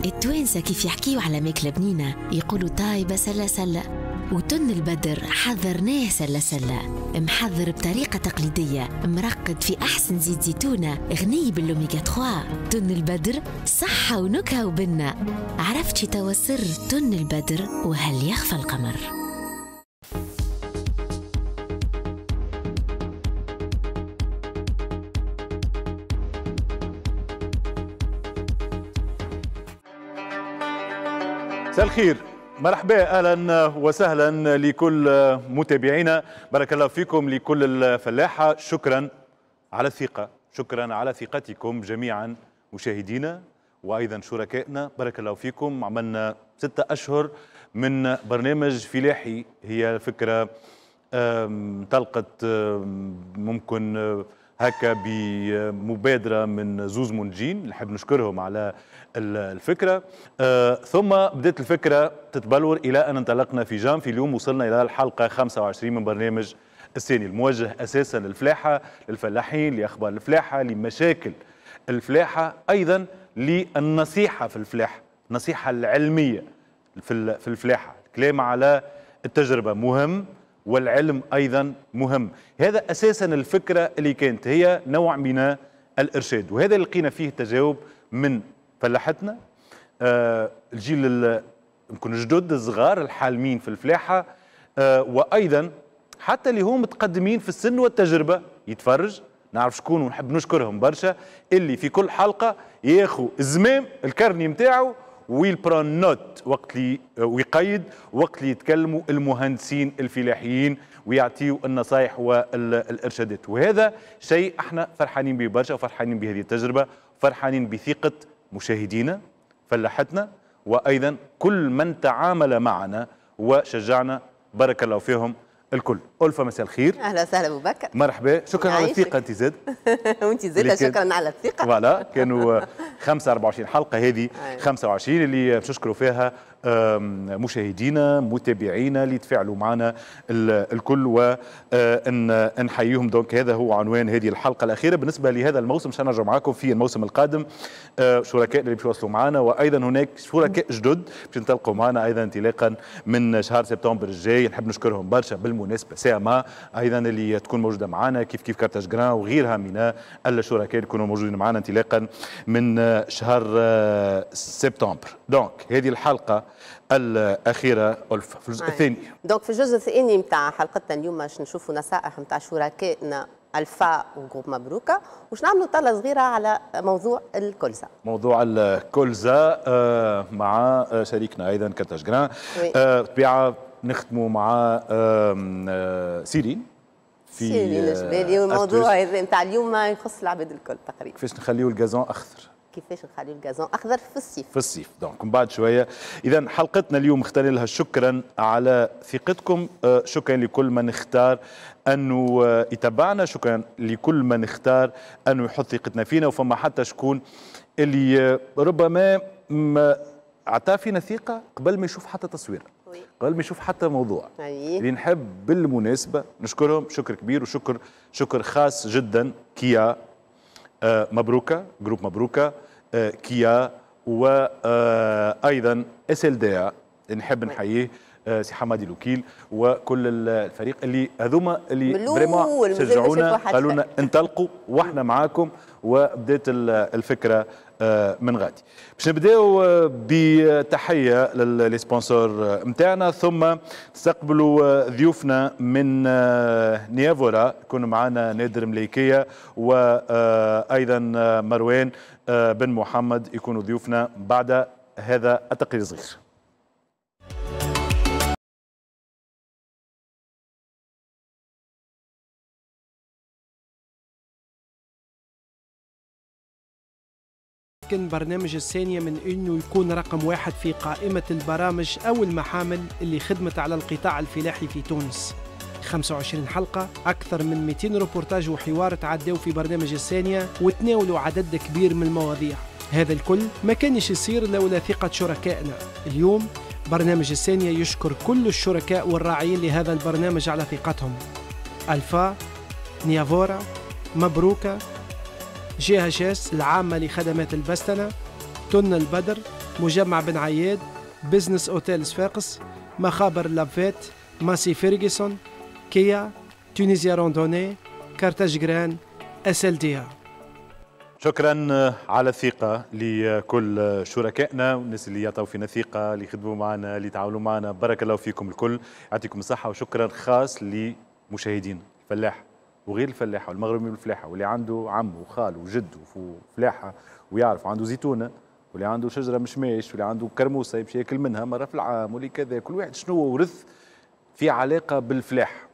التوانسة كيف يحكيوا على ماكلة بنينة يقولوا طايبة سلة سلة، وتن البدر حضرناه سلة سلة، محضر بطريقة تقليدية، مرقد في أحسن زيت زيتونة، غني بالأوميغا 3. تن البدر صحة ونكهة وبنة. عرفتي توا سر تن البدر وهل يخفى القمر؟ مساء الخير، مرحبا، اهلا وسهلا لكل متابعينا، بارك الله فيكم لكل الفلاحة، شكرا على الثقة، شكرا على ثقتكم جميعا مشاهدينا وايضا شركائنا، بارك الله فيكم. عملنا 6 أشهر من برنامج فلاحي، هي فكرة انطلقت ممكن هكا بمبادرة من زوز منتجين نحب نشكرهم على الفكرة، ثم بدأت الفكرة تتبلور إلى أن انطلقنا في جانفي. اليوم وصلنا إلى الحلقة 25 من برنامج السانية، الموجه أساسا للفلاحة، للفلاحين، لأخبار الفلاحة، لمشاكل الفلاحة، أيضا للنصيحة في الفلاحة، النصيحة العلمية في الفلاحة، الكلام على التجربة مهم والعلم أيضا مهم. هذا أساسا الفكرة اللي كانت هي نوع من الإرشاد، وهذا اللي لقينا فيه تجاوب من فلاحتنا، الجيل يمكن الجدد الصغار الحالمين في الفلاحة، وأيضا حتى اللي هم متقدمين في السن والتجربة يتفرج، نعرف شكون ونحب نشكرهم برشا، اللي في كل حلقة ياخو الزمام ال carnet نتاعو وي prend note وقت اللي ويقيد وقت اللي يتكلموا المهندسين الفلاحيين ويعطيوا النصائح والارشادات، وهذا شيء احنا فرحانين به برشا، وفرحانين بهذه التجربة، فرحانين بثقة مشاهدينا فلاحتنا، وايضا كل من تعامل معنا وشجعنا، بارك الله فيهم الكل. ألفة مساء الخير. اهلا وسهلا ابو بكر، مرحبا، شكرا على الثقة انت زاد. وانت زاد شكرا على الثقة. voilà كانوا 25 حلقة، هذه 25 اللي باش نشكروا فيها مشاهدينا متابعينا اللي تفاعلوا معنا الكل ونحييهم. donc هذا هو عنوان هذه الحلقة الاخيرة بالنسبة لهذا الموسم، باش نرجع معاكم في الموسم القادم شركاء اللي باش يوصلوا معنا، وايضا هناك شركاء جدد باش ينطلقوا معنا ايضا انطلاقا من شهر سبتمبر الجاي. نحب نشكرهم برشا بالمناسبة، ساما ايضا اللي تكون موجودة معنا، كيف كيف كارتاج جران وغيرها من الشركاء اللي يكونوا موجودين معنا انطلاقا من شهر سبتمبر. donc هذه الحلقة الأخيرة ألفة في الجزء الثاني. donc في الجزء الثاني نتاع حلقتنا اليوم باش نشوفوا نصائح نتاع شركائنا ألفا و groupe مبروكة، وش نعملوا طلة صغيرة على موضوع الكلزة. موضوع الكلزة مع شريكنا أيضا كارتاج جران. طبيعة نختموا مع سيرين في سيرين الجبالي، والموضوع هذا نتاع اليوم يخص العباد الكل تقريبا. كيفاش نخليو ال gazon أخضر؟ كيفاش نخليو ال gazon اخضر في الصيف؟ في الصيف. donc من بعد شوية. اذا حلقتنا اليوم اخترنا لها شكرا على ثقتكم، شكرا لكل من اختار انه يتبعنا، شكرا لكل من اختار انه يحط ثقتنا فينا، وفما حتى شكون اللي ربما عطى فينا ثقة قبل ما يشوف حتى تصوير، قبل ما يشوف حتى موضوع. اللي نحب بالمناسبة نشكرهم شكر كبير، وشكر شكر خاص جدا كيا مبروكة، groupe مبروكة، كيا، وأيضا SLDA نحب نحييه سي حمادي الوكيل وكل الفريق اللي هذوما اللي vraiment شجعونا، قالوا لنا انطلقوا واحنا معاكم، وبدات الفكرة من غادي. باش نبداو بتحية لل sponsors نتاعنا، ثم نستقبلوا ضيوفنا من نيافورا، يكونوا معنا نادر مليكيه وايضا مروان بن محمد، يكونوا ضيوفنا بعد هذا التقرير الصغير. يمكن برنامج السانية من أنه يكون رقم 1 في قائمة البرامج أو المحامل اللي خدمت على القطاع الفلاحي في تونس. 25 حلقة، أكثر من 200 روبورتاج وحوار تعدوا في برنامج السانية وتناولوا عدد كبير من المواضيع. هذا الكل ما كانش يصير لولا ثقة شركائنا. اليوم برنامج السانية يشكر كل الشركاء والراعيين لهذا البرنامج على ثقتهم: ألفا، نيافورا، مبروكة، GHS العامة لخدمات البستنة، تن البدر، مجمع بن عياد، Business Hotel صفاقس، مخابر لافيت، Massey Ferguson، Kia، Tunisia Randonnée، Carthage Grains، SLDA. شكرا على الثقة لكل شركائنا والناس اللي يعطوا فينا ثقة، اللي يخدموا معنا، اللي يتعاونوا معنا، بارك الله فيكم الكل، يعطيكم الصحة. وشكرا خاص لمشاهدين الفلاح وغير الفلاحة والمغرمين بالفلاحة، واللي عنده عم وخال وجد وفلاحة ويعرف عنده زيتونة، واللي عنده شجرة مشماش، واللي عنده كرموسة يمشي ياكل منها مرة في العام، واللي كذا، كل واحد شنو ورث في علاقة بالفلاحة.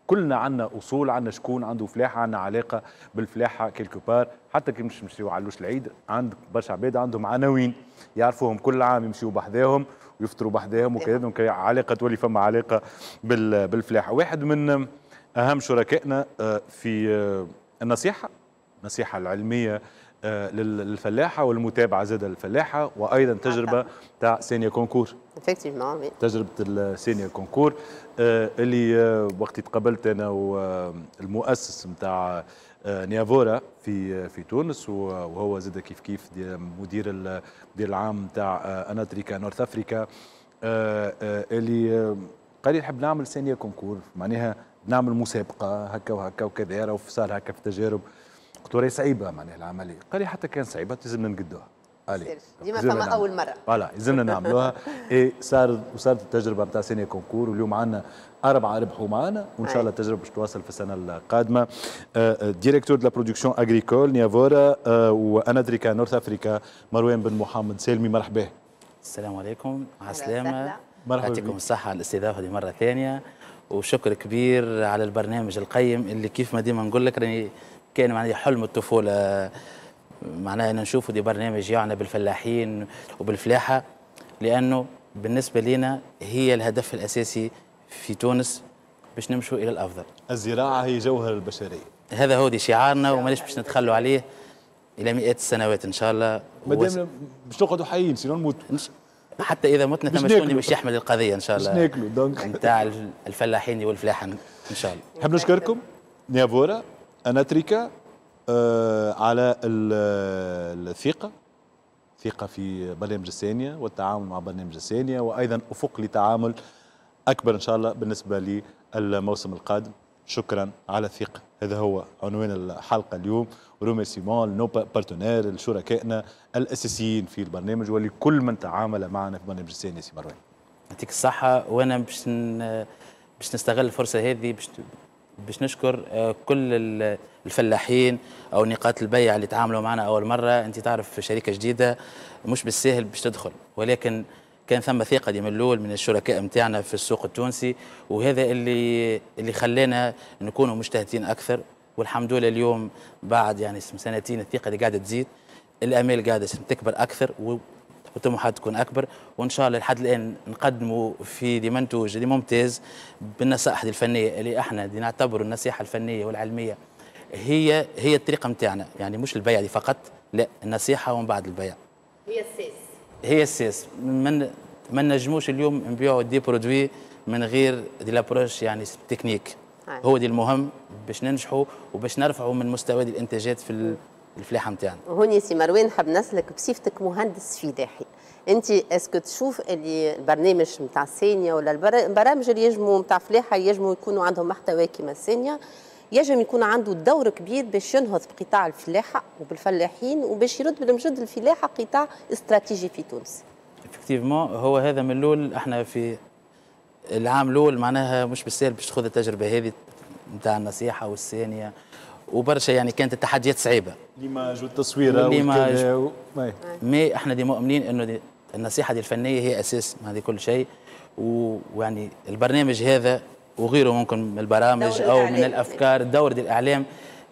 كلنا عندنا اصول، عندنا شكون عنده فلاحة، عندنا علاقة بالفلاحه quelque part. حتى كي مش نمشيو علوش العيد، عند برشا عباد عندهم عناوين يعرفوهم، كل عام يمشيو بحذاهم ويفطروا بحذاهم وكذا، donc علاقة تولي فما علاقة بالفلاحه. واحد من اهم شركائنا في النصيحة، النصيحة العلمية للفلاحه والمتابعة زاده للفلاحه، وايضا تجربه تاع سانية concours. effectivement. تجربه السانية concours اللي وقت تقابلت انا والمؤسس نتاع نيافورا في تونس، وهو زاد كيف كيف مدير المدير العام نتاع اناتريكا North Africa، اللي قال لي نحب نعمل سانية concours، معناها نعمل مسابقة هكا وهكا وكذا، وصار هكا في تجارب. قلت له راهي صعيبة معناها العملية، قال لي حتى كان صعيبة لازمنا نقدوها. allez ديما فما اول مرة. voilà لازمنا نعملوها. اي صار وصارت التجربة نتاع سانية concours، واليوم عندنا 4 ربحوا معنا، وان شاء الله التجربة باش تواصل في السنة القادمة. directeur de la production agricole نيافورا واناتريكا North Africa، مروان بن محمد سالمي، مرحبا. السلام عليكم، على السلامة. مرحبا، يعطيكم الصحة على الاستضافة دي مرة ثانية، وشكر كبير على البرنامج القيم اللي كيف ما ديما نقول لك راني كان معناها حلم الطفولة، معناها ان نشوفوا دي برنامج يعنى بالفلاحين وبالفلاحه، لانه بالنسبة لنا هي الهدف الاساسي في تونس باش نمشوا الى الافضل. الزراعة هي جوهر البشرية. هذا هو دي شعارنا ومانيش باش نتخلوا عليه الى مئات السنوات ان شاء الله. مادام باش نقعدوا حيين، sinon نموتوا. حتى اذا متنا ثم شكون باش يحمل القضية ان شاء الله. باش ناكلوا donc نتاع الفلاحين والفلاحه ان شاء الله. نحب نشكركم نيافورا اناتريكا على الثقة، ثقة في برنامج السانية والتعاون مع برنامج السانية، وأيضا أفق لتعامل أكبر إن شاء الله بالنسبة للموسم القادم. شكرا على الثقة، هذا هو عنوان الحلقة اليوم. remerciements nos partenaires، لشركائنا الأساسيين في البرنامج ولكل من تعامل معنا في برنامج السانية. سي مروان يعطيك الصحة، وأنا باش نستغل الفرصة هذه باش نشكر كل الفلاحين او نقاط البيع اللي تعاملوا معنا اول مرة. انت تعرف شركة جديدة مش بالسهل باش تدخل، ولكن كان ثم ثقة دي من الاول من الشركاء نتاعنا في السوق التونسي، وهذا اللي خلانا نكونوا مجتهدين اكثر. والحمد لله اليوم بعد يعني سنتين الثقة اللي قاعدة تزيد، الامال قاعدة تكبر اكثر والطموحات تكون اكبر، وان شاء الله لحد الان نقدموا في دي منتوج اللي ممتاز بالنصائح الفنية اللي احنا دي نعتبر النصيحة الفنية والعلمية هي الطريقة نتاعنا، يعني مش البيع دي فقط، لا النصيحة ومن بعد البيع. هي الساس، هي الساس. ما نجموش اليوم نبيعوا des produits من غير de l'approche يعني تكنيك. هو دي المهم باش ننجحوا وباش نرفعوا من مستوى دي الانتاجات في الفلاحة نتاعنا. هوني سي مروان حاب نسلك بصفتك مهندس فلاحي، انت est-ce que تشوف اللي البرنامج نتاع السانية ولا البرامج اللي يجموا نتاع فلاحة يجموا يكونوا عندهم محتوى كيما السانية، يجم يكون عنده دور كبير باش ينهض بقطاع الفلاحة وبالفلاحين وباش يرد بالمجد الفلاحة قطاع استراتيجي في تونس؟ effectivement هو هذا من الاول، احنا في العام الاول معناها مش بالسهل باش تاخذ التجربة هذه نتاع النصيحة والسانيه وبرشا، يعني كانت التحديات صعيبة، l'image والتصويره والكذا mais احنا دي مؤمنين انه النصيحة دي الفنية هي اساس هذه كل شيء، ويعني البرنامج هذا وغيره ممكن من البرامج او من الافكار، الدور دي الاعلام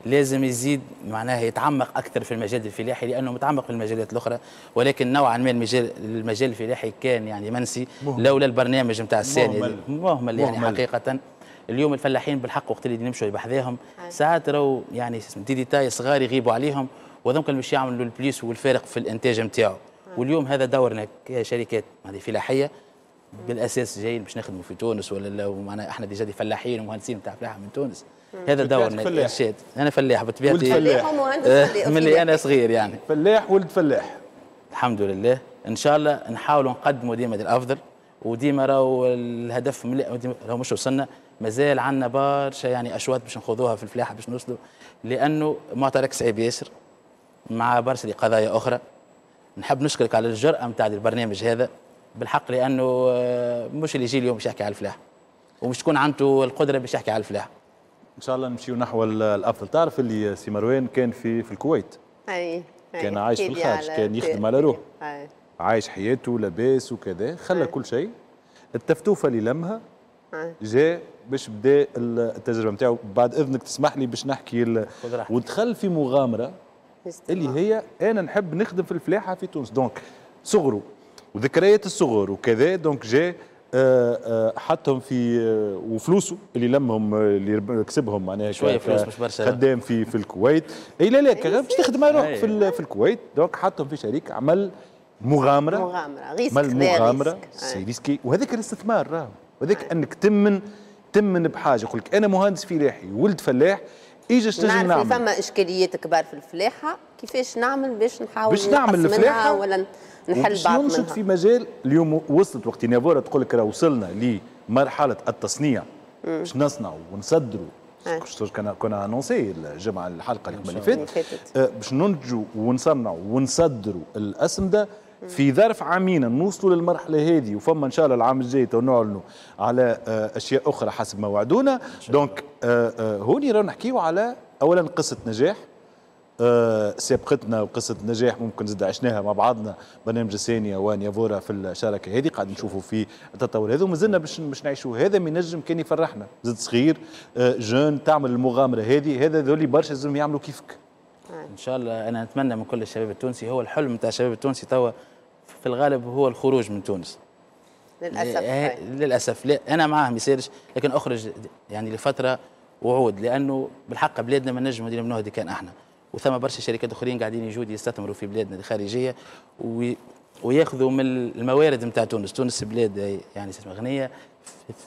لازم يزيد معناها يتعمق اكثر في المجال الفلاحي، لانه متعمق في المجالات الاخرى، ولكن نوعا ما المجال الفلاحي كان يعني منسي لولا البرنامج نتاع السانية، مهمل يعني حقيقة. اليوم الفلاحين بالحق وقت اللي نمشوا بحذاهم ساعات راهو يعني des détails صغار يغيبوا عليهم، وذوك باش يعملوا ال plus والفارق في الانتاج نتاعو. واليوم هذا دورنا كشركات هذه فلاحية بالاساس جايين باش نخدموا في تونس، ولا معناها احنا déjà des فلاحين ومهندسين نتاع فلاحة من تونس. هذا دورنا الارشاد. انا فلاح بطبيعتي، فلاح ومهندس من اللي انا صغير يعني، فلاح ولد فلاح الحمد لله. ان شاء الله نحاولوا نقدموا ديما الافضل، وديما راهو الهدف راهو مش وصلنا، مازال عندنا برشا يعني اشواط باش نخوضوها في الفلاحة باش نوصلوا، لانه معترك صعيب ياسر مع برشا قضايا اخرى. نحب نشكرك على الجرأة نتاع البرنامج هذا بالحق، لانه مش اللي يجي اليوم باش يحكي على الفلاح ومش تكون عنده القدرة باش يحكي على الفلاح. ان شاء الله نمشيو نحو الافضل. تعرف اللي سي مروان كان في الكويت، اي كان عايش في الخارج، كان يخدم على روحه، عايش حياته لاباس وكذا، خلى كل شيء. التفتوفه اللي لمها جاء باش بدا التجربة نتاعو. بعد اذنك تسمح لي باش نحكي ودخل في مغامرة اللي هي انا نحب نخدم في الفلاحة في تونس، donc صغره وذكريات الصغر وكذا، donc جاء حطهم في وفلوسه اللي لمهم اللي كسبهم معناها شوية فلوس مش برشا، خدام في الكويت. اي لا لا باش تخدم على روحك في الكويت، donc حطهم في شريك، عمل مغامرة risque، مغامرة c'est risqué، وهذاك الاستثمار راهو، وهذاك انك تمن بحاجة. يقول لك انا مهندس فلاحي ولد فلاح، ايجا تنجم نعمل؟ فما اشكاليات كبار في الفلاحة، كيفاش نعمل باش نحاول باش نعمل الفلاحة ولا نحل بعض منها؟ ننشط في مجال اليوم وصلت وقت نيافورا تقول لك راه وصلنا لمرحلة التصنيع باش نصنعوا ونصدروا. كنا annoncé الجمعة الحلقة اللي فاتت باش ننتجوا ونصنعوا ونصدروا الاسمده في ظرف عامين، نوصلوا للمرحلة هذه، وفما ان شاء الله العام الجاي نعلنوا على اشياء اخرى حسب ما وعدونا. donc هوني رانا نحكيو على اولا قصة نجاح سابقتنا، وقصة نجاح ممكن زاد عشناها مع بعضنا برنامج السانيه ونيافورا في الشراكة هذه، قاعد نشوفوا في التطور هذا ومازلنا باش نعيشوا هذا. ما ينجم كان يفرحنا زاد صغير jeune تعمل المغامرة هذه، هذا ذولي برشا لازم يعملوا كيفك. ان شاء الله انا نتمنى من كل الشباب التونسي، هو الحلم نتاع الشباب التونسي توا في الغالب هو الخروج من تونس للاسف. للاسف لا انا معاه ما يصيرش، لكن اخرج يعني لفترة وعود، لانه بالحق بلادنا ما نجموا نديروا كان احنا، وثم برشا شركات اخرين قاعدين يجوا يستثمروا في بلادنا الخارجية وياخذوا من الموارد نتاع تونس. تونس بلاد يعني غنية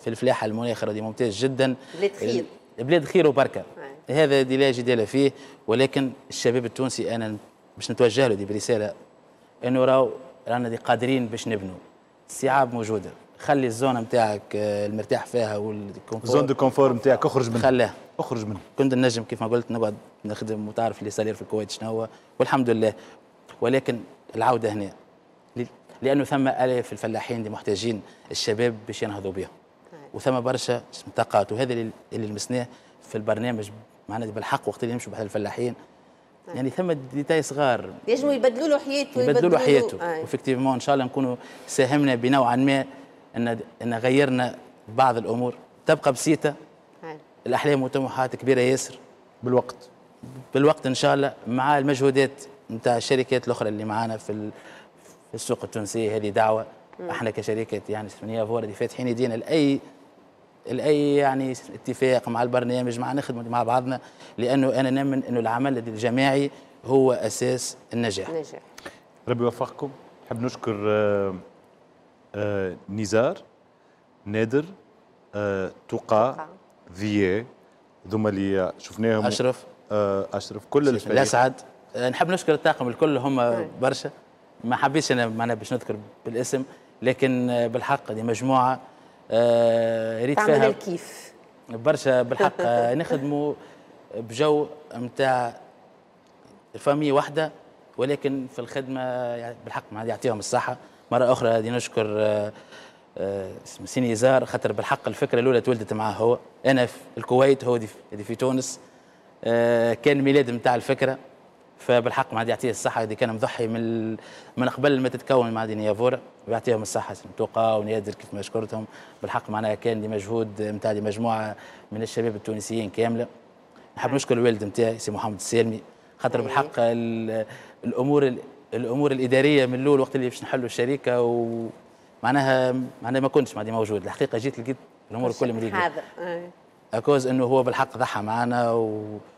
في الفلاحة، المناخ دي ممتاز جدا، بلاد خير، بلاد خير وبركة، هذا دي لا جدال فيه. ولكن الشباب التونسي انا باش نتوجه له دي برسالة انه راهو رانا دي قادرين باش نبنوا، الصعاب موجودة، خلي ال zone نتاعك المرتاح فيها وال confort، zone de confort نتاعك اخرج منها، خليها اخرج منها. كنت نجم كيف ما قلت نقعد نخدم وتعرف les salaires في الكويت شنو هو، والحمد لله، ولكن العودة هنا لانه ثم الاف الفلاحين اللي محتاجين الشباب باش ينهضوا بهم، وثم برشا طاقات، وهذا اللي لمسناه في البرنامج معنا بالحق وقت اللي نمشوا بحال الفلاحين، يعني ثم détails صغار ينجموا يبدلوا له حياته، يبدلوا له حياته. و effectivement ان شاء الله نكونوا ساهمنا بنوعا ما ان غيرنا بعض الامور، تبقى بسيطة. الاحلام والطموحات كبيرة ياسر، بالوقت ان شاء الله مع المجهودات نتاع الشركات الاخرى اللي معانا في السوق التونسية. هذه دعوه احنا كشركة يعني نيافورا فاتحين يدينا لاي يعني اتفاق مع البرنامج، مع نخدمه مع بعضنا، لانه انا نؤمن انه العمل الجماعي هو اساس النجاح. ربي يوفقكم. نحب نشكر نزار، نادر، تقى، ذياء، ذوما اللي شفناهم، اشرف، اشرف، كل الفريق، الاسعد. نحب نشكر الطاقم الكل، هم برشا، ما حبيتش انا معنا باش نذكر بالاسم، لكن بالحق دي مجموعة ريت فيها الكيف برشا بالحق. نخدموا بجو نتاع famille واحدة، ولكن في الخدمة يعني بالحق يعطيهم الصحة. مرة اخرى دي نشكر سي نزار، خاطر بالحق الفكرة الاولى تولدت معاه هو، انا في الكويت هو دي في تونس، كان ميلاد نتاع الفكرة، فبالحق ما يعطيه الصحة، دي كان مضحي من قبل ما تتكون مع دي نيافورا، ويعطيهم الصحة توقا ونادر كيف ما شكرتهم بالحق، معناها كان دي مجهود نتاع دي مجموعة من الشباب التونسيين كاملة. نحب نشكر الوالد نتاعي سي محمد السالمي، خاطر بالحق الامور الادارية من الاول وقت اللي باش نحلوا الشركة ومعناها ما كنتش معناها موجود الحقيقة، جيت لقيت الامور الكل مريقه à cause انه هو بالحق ضحى معنا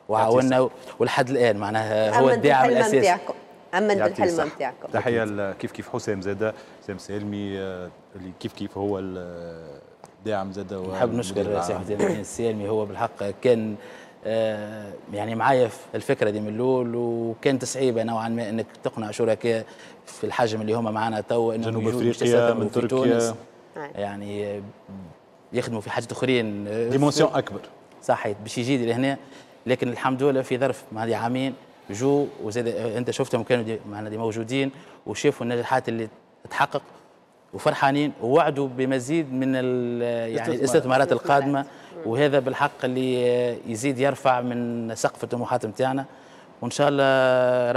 وعاوننا ولحد الان معناها هو الداعم الاساسي. امن بالحلم نتاعكم. تحية كيف كيف حسام زاده، حسام سالمي اللي كيف كيف هو الداعم زاده. نحب نشكر سي حسام السالمي، هو بالحق كان يعني معايا في الفكرة دي من الاول، وكانت صعيبة نوعا ما انك تقنع شركاء في الحجم اللي هما معنا تو انهم جنوب افريقيا من تركيا، يعني يخدموا في حاجات اخرين dimension اكبر، صحيح، باش يجي لهنا. لكن الحمد لله في ظرف هذه عامين جو، وزاد انت شفتهم كانوا معنا دي موجودين وشافوا النجاحات اللي تتحقق وفرحانين، ووعدوا بمزيد من يعني الاستثمارات القادمة، وهذا بالحق اللي يزيد يرفع من سقف الطموحات نتاعنا. وان شاء الله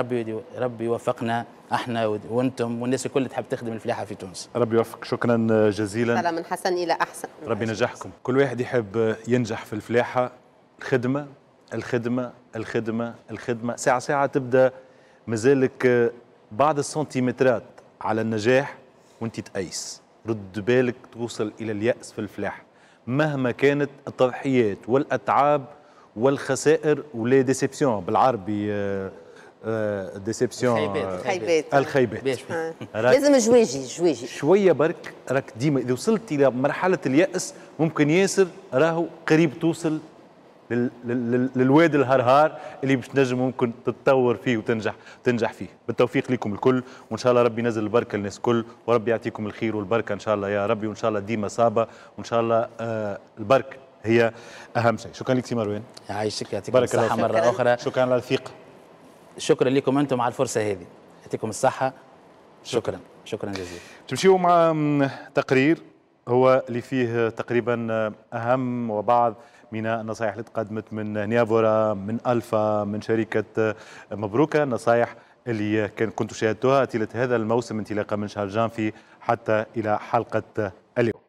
ربي يوفقنا احنا وانتم والناس الكل تحب تخدم الفلاحة في تونس. ربي يوفقك، شكرا جزيلا. من حسن الى احسن، ربي ينجحكم. كل واحد يحب ينجح في الفلاحة، الخدمة الخدمة الخدمة الخدمة، ساعة ساعة تبدا مازالك بعض السنتيمترات على النجاح وانت تأيس. رد بالك توصل الى اليأس في الفلاحة مهما كانت التضحيات والاتعاب والخسائر و les déceptions بالعربي، déception، الخيبات، الخيبات. لازم جواجي شوية برك، راك ديما اذا وصلت الى مرحلة اليأس ممكن ياسر راهو قريب توصل للواد الهرهار اللي باش تنجم ممكن تتطور فيه وتنجح فيه. بالتوفيق لكم الكل، وان شاء الله ربي ينزل البركة للناس الكل، وربي يعطيكم الخير والبركة ان شاء الله يا ربي، وان شاء الله ديما صابه، وان شاء الله البركة هي اهم شيء. شكرا لك سي مروان، يعيشك، يعطيكم الصحة مرة اخرى. شكرا على الثقة، شكرا لكم انتم على الفرصة هذه، يعطيكم الصحة. شكرا شكرا جزيلا. تمشيوا مع تقرير هو اللي فيه تقريبا اهم وبعض من النصائح اللي تقدمت من نيافورا، من ألفا، من شركة مبروكة، النصائح اللي كنتوا شاهدتوها طيلة هذا الموسم انطلاقا من شهر جانفي حتى إلى حلقة اليوم.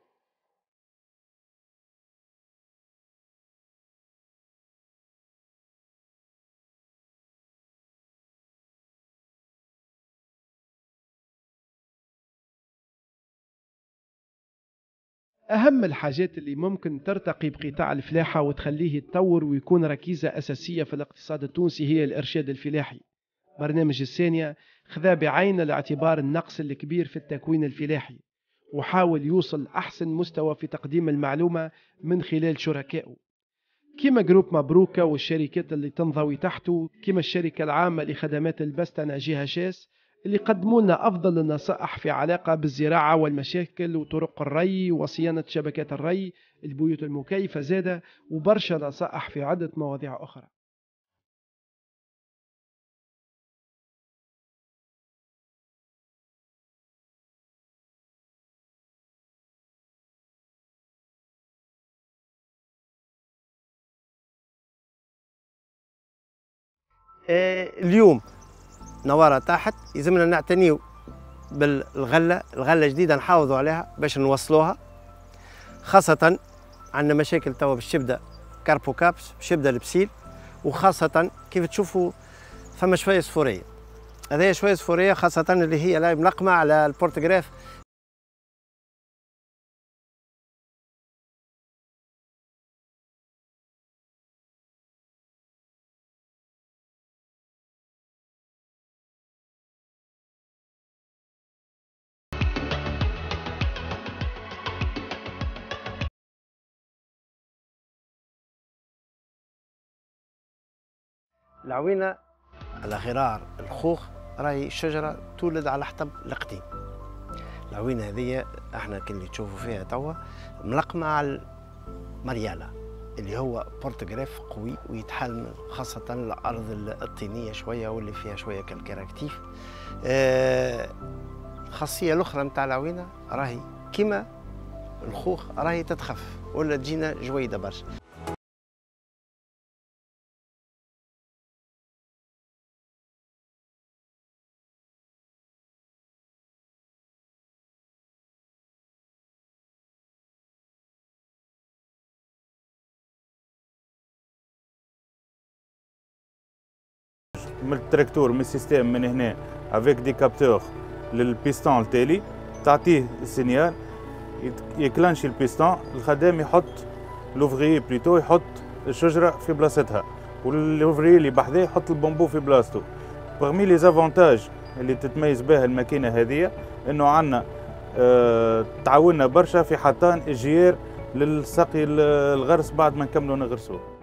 أهم الحاجات اللي ممكن ترتقي بقطاع الفلاحة وتخليه يتطور ويكون ركيزة أساسية في الاقتصاد التونسي هي الإرشاد الفلاحي. برنامج السانية خذا بعين الاعتبار النقص الكبير في التكوين الفلاحي، وحاول يوصل أحسن مستوى في تقديم المعلومة من خلال شركائه كما groupe مبروكة والشركات اللي تنضوي تحته، كما الشركة العامة لخدمات البستنة GHS اللي قدموا لنا أفضل النصائح في علاقة بالزراعة والمشاكل وطرق الري وصيانة شبكات الري، البيوت المكيفة زادة، وبرشا نصائح في عدة مواضيع أخرى. اليوم نوارة تحت يلزمنا نعتنيو بالغلة، الغلة جديدة نحافظوا عليها باش نوصلوها، خاصة عندنا مشاكل توا باش تبدا carpocapse، باش يبدا ال psylle، وخاصة كيف تشوفوا فما شوية صفورية، هذه شوية صفورية خاصة اللي هي لا ملقمة على ال porte-greffe. العوينة على غرار الخوخ راهي الشجرة تولد على حطب القديم. العوينة هذه احنا كي تشوفوا فيها توا ملقمة على المريالة اللي هو porte-greffe قوي ويتحمل خاصة الأرض الطينية شوية واللي فيها شوية calcaire actif. الخاصية الأخرى نتاع العوينة راهي كيما الخوخ راهي تتخف ولا تجينا جويدة برشا. من التراكتور من ال système من هنا avec des capteurs لل piston التالي تعطيه ال signal يكلانشي البيستون، الخدام يحط l'ouvrier plutôt يحط الشجرة في بلاصتها، وال ouvrier اللي بحذاه يحط البامبو في بلاصتو. parmi les avantages اللي تتميز بها الماكينة هذه انه عندنا تعاوننا برشا في حطان الجير للسقي الغرس بعد ما نكملوا نغرسوه.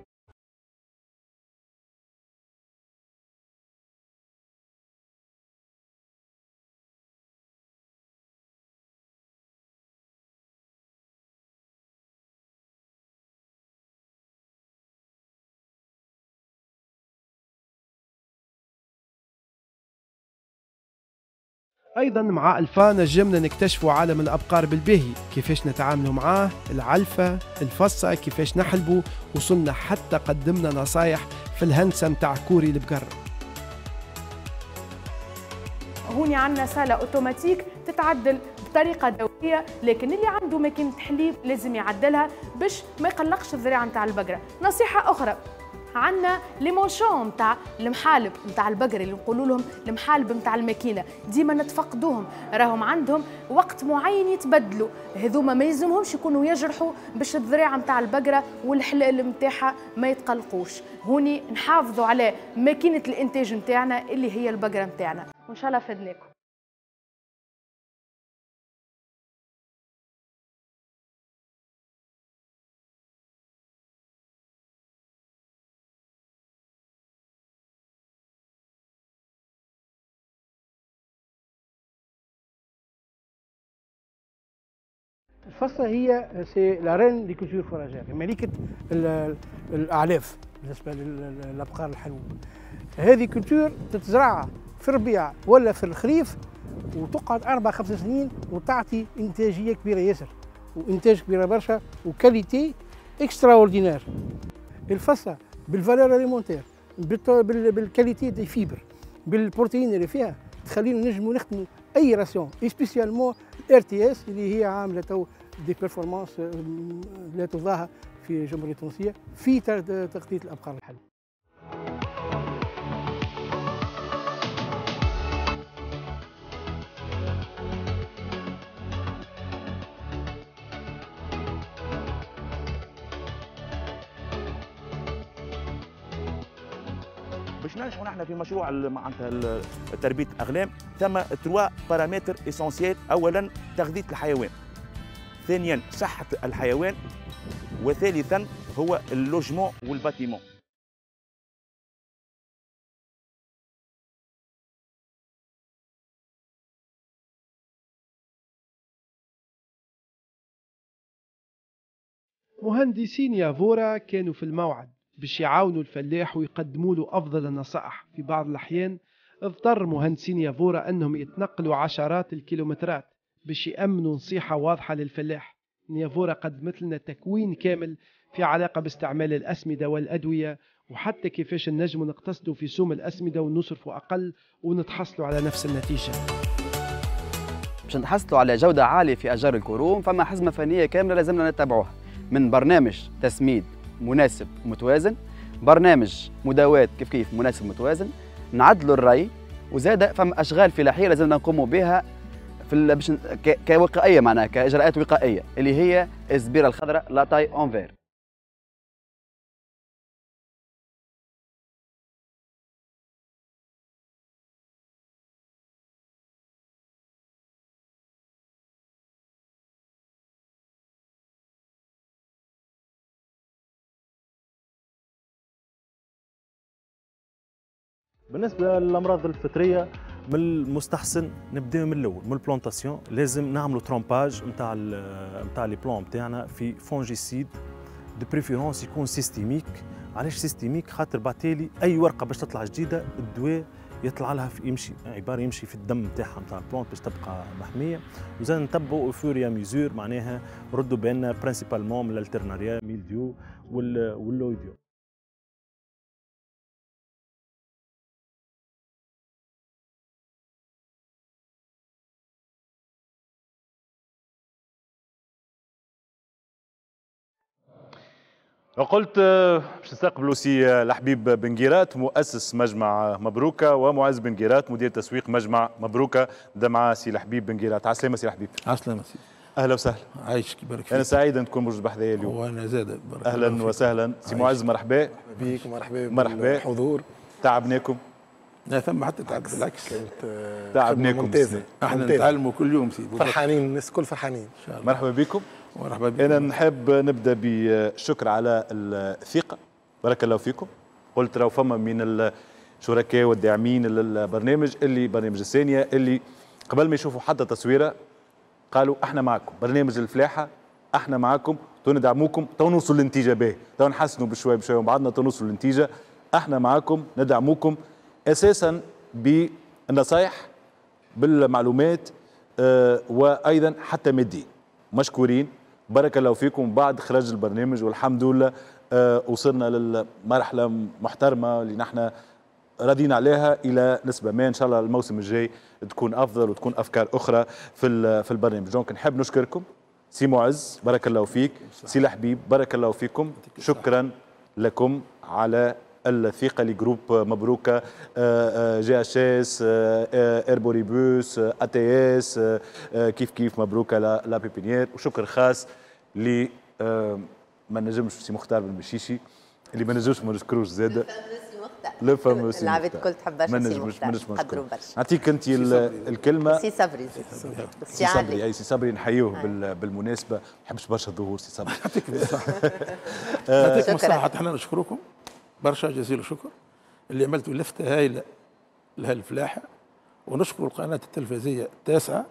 أيضا مع ألفا نجمنا نكتشفوا عالم الأبقار بالباهي، كيفاش نتعاملوا معاه، العلفة، الفصة، كيفاش نحلبوا، وصلنا حتى قدمنا نصايح في الهندسة متاع كوري البقر. هوني عندنا salle automatique تتعدل بطريقة دورية، لكن اللي عنده ماكينة حليب لازم يعدلها باش ما يقلقش الذراع نتاع البقرة. نصيحة أخرى، عندنا les manchons نتاع المحالب نتاع البقر اللي نقولوا لهم المحالب نتاع الماكينة، ديما نتفقدوهم، راهم عندهم وقت معين يتبدلوا، هذوما ما يلزمهمش يكونوا يجرحوا باش الذراع نتاع البقرة والحلال نتاعها ما يتقلقوش. هوني نحافظوا على ماكينة الانتاج نتاعنا اللي هي البقرة نتاعنا، وان شاء الله فدناكم. الفصة هي c'est la reine des cultures fourragères، ملكة الأعلاف بالنسبة للأبقار الحلوب. هذه culture تتزرع في الربيع ولا في الخريف وتقعد 4 5 سنين وتعطي إنتاجية كبيرة ياسر وإنتاج كبيرة برشا و qualité extraordinaire. الفصة بال valeur alimentaire، بال qualité des fibres، بالبروتين اللي فيها تخلينا نجموا نخدموا اي ration، spécialement RTS اللي هي عامله تو des performances لا تضاهى في الجمهورية التونسية في تغطيه الابقار الحلوب. باش ننجحوا نحن في مشروع معناتها تربيه الاغنام، ثم 3 paramètres essentiels. اولا تغذية الحيوان، ثانيا صحة الحيوان، وثالثا هو ال logement وال bâtiment. مهندسين يافورا كانوا في الموعد باش يعاونوا الفلاح ويقدموا له أفضل النصائح. في بعض الأحيان اضطر مهندسين يافورا أنهم يتنقلوا عشرات الكيلومترات باش يأمنوا نصيحة واضحة للفلاح. يافورا قدمت لنا تكوين كامل في علاقة باستعمال الأسمدة والأدوية، وحتى كيفاش نجموا نقتصدوا في سوم الأسمدة ونصرفوا أقل ونتحصلوا على نفس النتيجة. باش نتحصلوا على جودة عالية في أشجار الكروم فما حزمة فنية كاملة لازمنا نتبعوها، من برنامج تسميد مناسب ومتوازن، برنامج مداوات كيف كيف مناسب متوازن، نعدلوا الري، وزاد فما اشغال فلاحية لازمنا نقوموا بها في باش كوقائيه، معناها كاجراءات وقائيه اللي هي الزبيره الخضراء la taille en vert. بالنسبة للامراض الفطرية من المستحسن نبداو من الاول من ال plantation، لازم نعملوا trempage نتاع les plants نتاعنا في fongicide، de préférence يكون systémique. علاش systémique؟ خاطر بعتالي اي ورقة باش تطلع جديدة الدواء يطلع لها في يمشي عبارة يمشي في الدم نتاعها نتاع ال plante باش تبقى محمية. وزاد نتبعوا au fur et à mesure، معناها ردوا بالنا principalement من ال alternaria mildiou وال oïdium. وقلت باش نستقبلوا سي الحبيب بن قيرات مؤسس مجمع مبروكه، ومعز بن قيرات مدير تسويق مجمع مبروكه. مع سي الحبيب بن قيرات. عسلامة سي الحبيب. عسلامة سيدي. اهلا وسهلا. عايشك بارك فيك. انا سعيد ان تكون موجود بحذايا اليوم. وانا زاد بارك. اهلا وسهلا سي معز، مرحبا بيك ومرحبا مرحبا بالحضور. تعبناكم؟ لا ثم حتى تعب، بالعكس كانت تعبناكم. ممتازة، احنا نتعلموا كل يوم سيدي، فرحانين الناس الكل فرحانين. ان شاء الله. مرحبا بكم. مرحبا بكم. أنا نحب نبدأ بشكر على الثقة، بارك الله فيكم. قلت راهو فما من الشركاء والداعمين للبرنامج اللي برنامج الثانية اللي قبل ما يشوفوا حتى تصويرة قالوا احنا معكم، برنامج الفلاحة احنا معكم، تو ندعموكم، تو نوصلوا للنتيجة باهي، تو نحسنوا بشوية بشوية وبعدنا تو نوصلوا للنتيجة، احنا معكم ندعموكم أساسا بالنصايح، بالمعلومات وايضا حتى ماديا. مشكورين، بارك الله فيكم. بعد خرج البرنامج والحمد لله وصلنا للمرحلة محترمه اللي نحن راضيين عليها الى نسبه ما. ان شاء الله الموسم الجاي تكون افضل وتكون افكار اخرى في البرنامج. donc نحب نشكركم سي معز، بارك الله فيك، سي الحبيب بارك الله فيكم، شكرا لكم على الثقة ل groupe مبروكه، GHS، اربوريبوس، ATS، كيف كيف مبروكه la pépinière. وشكر خاص ل ما نجمش سي مختار بن مشيشي اللي ما نجمش ما نشكروش زاده، le fameux العباد الكل تحب برشا سي مختار، قدروا برشا. نعطيك انت الكلمة سي صبري. سي صبري، اي سي صبري نحيوه بالمناسبة، ما نحبش برشا الظهور سي صبري. يعطيكم الصحة، يعطيكم الصحة. احنا نشكركم برشا جزيل الشكر اللي عملتوا لفته هايلة لهالفلاحه، ونشكر القناة التلفزيونية التاسعة،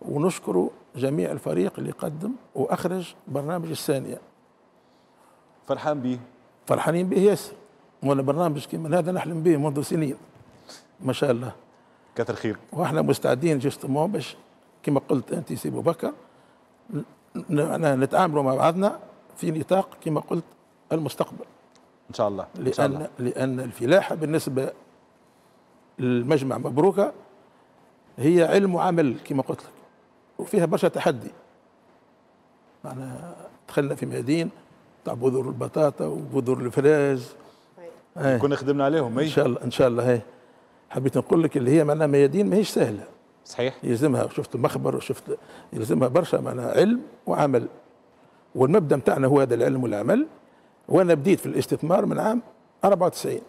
ونشكر جميع الفريق اللي قدم واخرج برنامج الثانية. فرحان به، فرحانين به ياسر، وانا برنامج كيما هذا نحلم به منذ سنين ما شاء الله. كثر خير. واحنا مستعدين justement باش كما قلت انت سي ابو بكر نتعاملوا مع بعضنا في نطاق كما قلت المستقبل ان شاء الله. لان الفلاحة بالنسبة للمجمع مبروكه هي علم وعمل كما قلت لك، وفيها برشا تحدي. معنا دخلنا في ميادين تاع بذور البطاطا وبذور الفراز كنا خدمنا عليهم. ان شاء الله، ان شاء الله. هي حبيت نقول لك اللي هي معناها ميادين ماهيش سهلة. صحيح، يلزمها شفت مخبر وشفت يلزمها برشا معناها علم وعمل، والمبدا نتاعنا هو هذا العلم والعمل. وانا بديت في الاستثمار من عام 94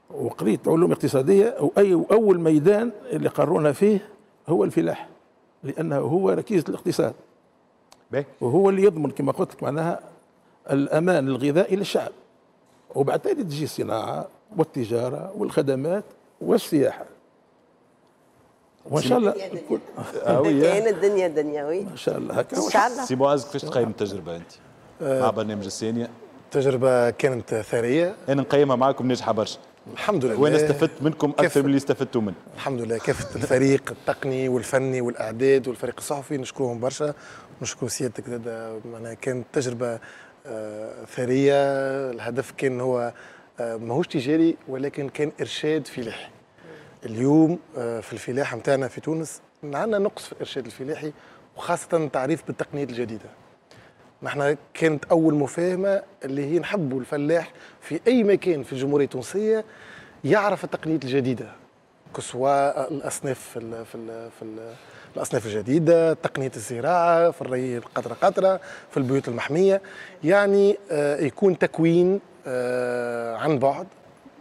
وقريت علوم اقتصادية، واي اول ميدان اللي قرونا فيه هو الفلاح، لانه هو ركيزة الاقتصاد وهو اللي يضمن كما قلت لك معناها الامان الغذائي للشعب. وبعد تالي تجي الصناعة والتجارة والخدمات والسياحة. وان شاء الله كاين الدنيا دنيا. ما شاء الله هكا. ان شاء الله. سي معز، كيفاش تقيم التجربة انت مع برنامج الثانية؟ التجربة كانت ثرية، انا نقيمها معكم ناجحة برشا الحمد لله، وانا استفدت منكم اكثر من اللي استفدتوا منه الحمد لله. كافة الفريق التقني والفني والاعداد والفريق الصحفي نشكرهم برشا، نشكر سيادتك زاد. معناها كانت تجربه ثرية. الهدف كان هو ماهوش تجاري ولكن كان ارشاد فلاحي. اليوم في الفلاحة نتاعنا في تونس عندنا نقص في الارشاد الفلاحي، وخاصة التعريف بالتقنيات الجديدة. نحن كانت اول مفاهمه اللي هي نحبوا الفلاح في اي مكان في الجمهورية التونسية يعرف التقنيات الجديدة، كسوا الاصناف في الاصناف الجديدة، تقنية الزراعة، في الري قطرة قطرة، في البيوت المحميه، يعني يكون تكوين عن بعد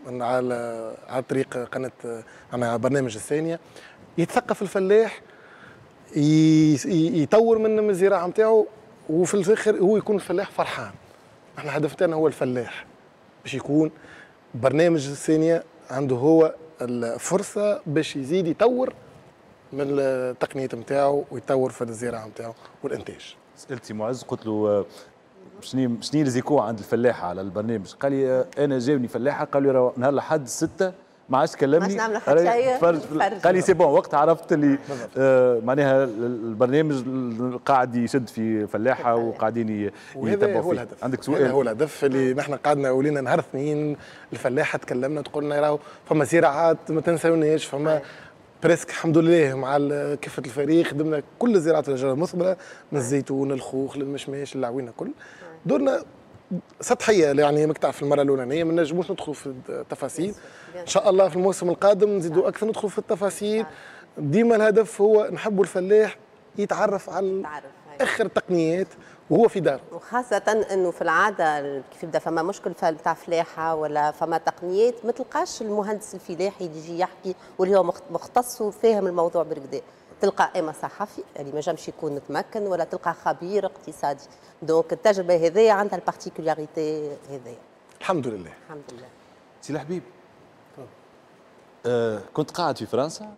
على طريق قناة على برنامج الثانية، يتثقف الفلاح، يطور من الزراعة نتاعو، وفي الاخر هو يكون الفلاح فرحان. احنا هدفنا هو الفلاح باش يكون برنامج الثانية عنده هو الفرصة باش يزيد يطور من التقنية نتاعو ويطور في الزراعة نتاعو والانتاج. سالتي معز قلت له شنو les échos عند الفلاحة على البرنامج؟ قال لي انا جاوني فلاحة قالوا لي نهار الاحد 6 ما عادش كلمني، قال لي c'est bon وقت عرفت اللي معناها البرنامج قاعد يشد في فلاحة وقاعدين يتبعوا هو الهدف. عندك سؤال؟ هذا هو الهدف اللي نحن قعدنا ولينا نهار اثنين الفلاحة تكلمنا تقولنا راهو فما زراعات ما تنساوناش، فما presque الحمد لله مع كافة الفريق خدمنا كل زراعة الاشجار المثمرة من الزيتون الخوخ للمشماش للعوينه كل دورنا سطحية، يعني ماك تعرف المرة الاولانية ما نجموش ندخلوا في التفاصيل. ان شاء الله في الموسم القادم نزيدوا اكثر ندخلوا في التفاصيل. ديما الهدف هو نحبوا الفلاح يتعرف على اخر التقنيات وهو في داره، وخاصة انه في العادة كيف يبدا فما مشكل تاع فلاحة ولا فما تقنيات ما تلقاش المهندس الفلاحي اللي يجي يحكي واللي هو مختص وفاهم الموضوع بالكدا. تلقى اما صحفي اللي ما جامش يكون متمكن ولا تلقى خبير اقتصادي. donc التجربة هذيا عندها ال particularité هذيا. الحمد لله. الحمد لله. سي الحبيب، كنت قاعد في فرنسا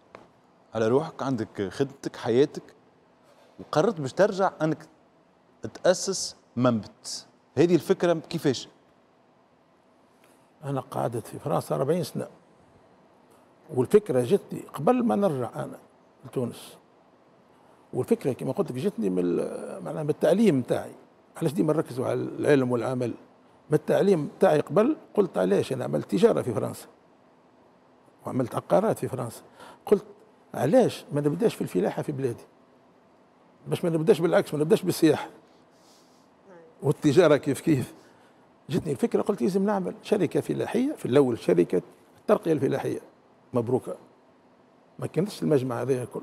على روحك، عندك خدمتك حياتك، وقررت باش ترجع انك تأسس منبت. هذه الفكرة كيفاش؟ أنا قعدت في فرنسا 40 سنة والفكرة جتني قبل ما نرجع انا لتونس، والفكرة كما قلت لك جتني من معناها من التعليم نتاعي. علاش ديما نركزوا على العلم والعمل؟ من التعليم تاعي قبل قلت علاش انا عملت تجارة في فرنسا وعملت عقارات في فرنسا، قلت علاش ما نبداش في الفلاحة في بلادي؟ باش ما نبداش بالعكس، ما نبداش بالسياحة والتجارة كيف كيف. جتني الفكرة قلت لازم نعمل شركة فلاحية في الاول، شركة الترقية الفلاحية مبروكه، ما كانتش المجمع هذا الكل.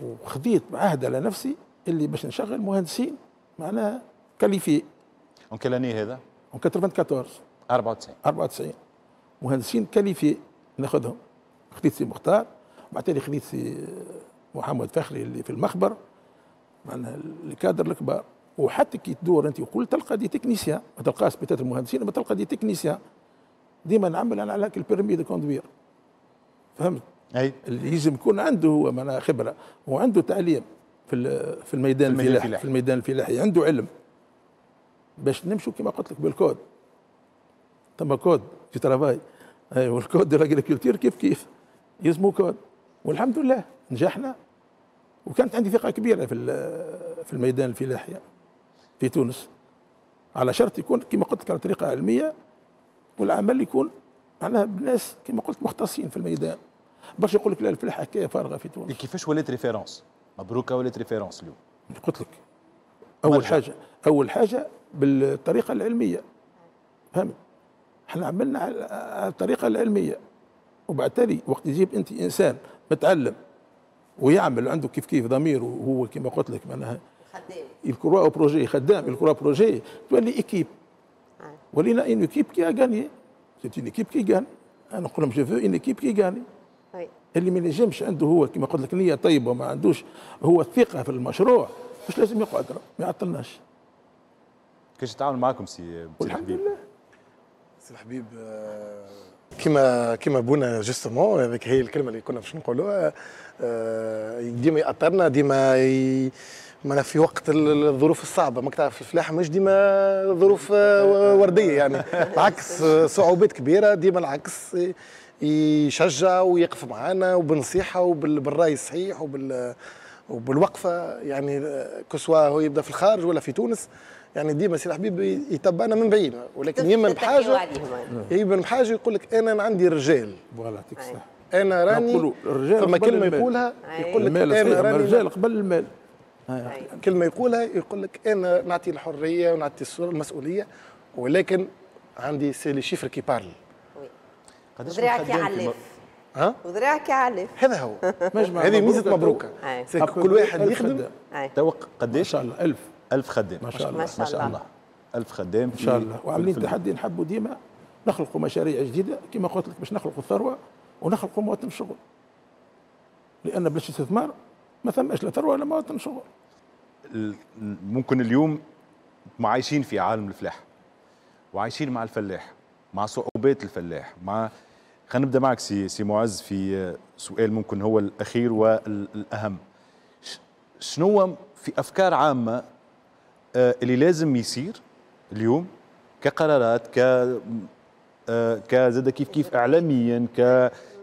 وخذيت عهد على نفسي اللي باش نشغل مهندسين معناها qualifiés. en quelle année هذا؟ en 94 94 مهندسين qualifiés ناخذهم. خذيت سي مختار، بعد تالي خذيت سي محمد فخري اللي في المخبر، معناها les cadres الكبار. وحتى كي تدور انت وكل تلقى des techniciens، ما تلقاش peut-être المهندسين، ما تلقى des techniciens. ديما نعمل انا على ال permis de conduire، فهمت؟ اي اللي يلزم يكون عنده هو معناها خبره وعنده تعليم في الميدان الفلاحي، في الميدان الفلاحي عنده علم باش نمشوا كما قلت لك بالكود. ثم code du travail وال code de l'agriculture كيف كيف يسمو كود. والحمد لله نجحنا، وكانت عندي ثقة كبيرة في الميدان الفلاحي في تونس، على شرط يكون كما قلت لك على طريقه علمية، والعمل يكون معناها بناس كما قلت مختصين في الميدان. باش يقول لك لا الفلاحة حكاية فارغة في تونس. كيفاش ولات référence؟ مبروكه ولات référence اليوم؟ قلت لك اول حاجة بالطريقة العلمية، فهمت؟ احنا عملنا على الطريقة العلمية، وبعد تالي وقت يجيب انت انسان متعلم ويعمل عنده كيف كيف ضمير، وهو كما قلت لك معناها خدام، il croit au projet، خدام il croit au projet، تولي équipe. ولينا une équipe qui gagne، c'est une équipe qui gagne. انا نقول لهم je veux une équipe qui gagne. اللي ما ينجمش عنده هو كما قلت لك نيه طيبة وما عندوش هو الثقة في المشروع، مش لازم يقعد، ما يعطلناش. كيفاش يتعامل معكم سي الحمد لله سي الحبيب؟ كيما بونا justement، هذيك هي الكلمة اللي كنا باش نقولوها. ديما يأطرنا، ديما ما في وقت الظروف الصعبة، ماك تعرف الفلاحة مش ديما ظروف وردية يعني، العكس صعوبات كبيرة، ديما العكس يشجع ويقف معنا وبالنصيحه وبالراي الصحيح وبالوقفه، يعني que ce soit هو يبدا في الخارج ولا في تونس، يعني ديما سي الحبيب يتبعنا من بعيد، ولكن يمن بحاجة، يمن بحاجة يقول لك انا عندي رجال. voilà يعطيك الصحة. انا راني فما كلمة يقولها يقول لك انا راني الرجال قبل المال. كلمة يقولها يقول لك انا نعطي الحرية ونعطي المسؤولية، ولكن عندي c'est les chiffres qui parlent. قداش وذراعك يعلف. ها؟ وذراعك يعلف. هذا هو. هذه ميزة مبروكه. كل واحد يخدم. تو قداش؟ ان شاء الله 1000 خدام. ما شاء الله ما شاء الله 1000 خدام ان شاء الله. وعاملين تحدي، نحبوا ديما نخلقوا مشاريع جديدة كما قلت لك باش نخلقوا الثروة ونخلقوا مواطن شغل، لان بلاش استثمار ما ثماش لا ثروة ولا مواطن شغل. ممكن اليوم عايشين في عالم الفلاح وعايشين مع الفلاح، مع صعوبات الفلاح، مع خلينا نبدا معك سي معز في سؤال ممكن هو الاخير والاهم. شنو في افكار عامة اللي لازم يصير اليوم كقرارات كزاد كيف كيف اعلاميا،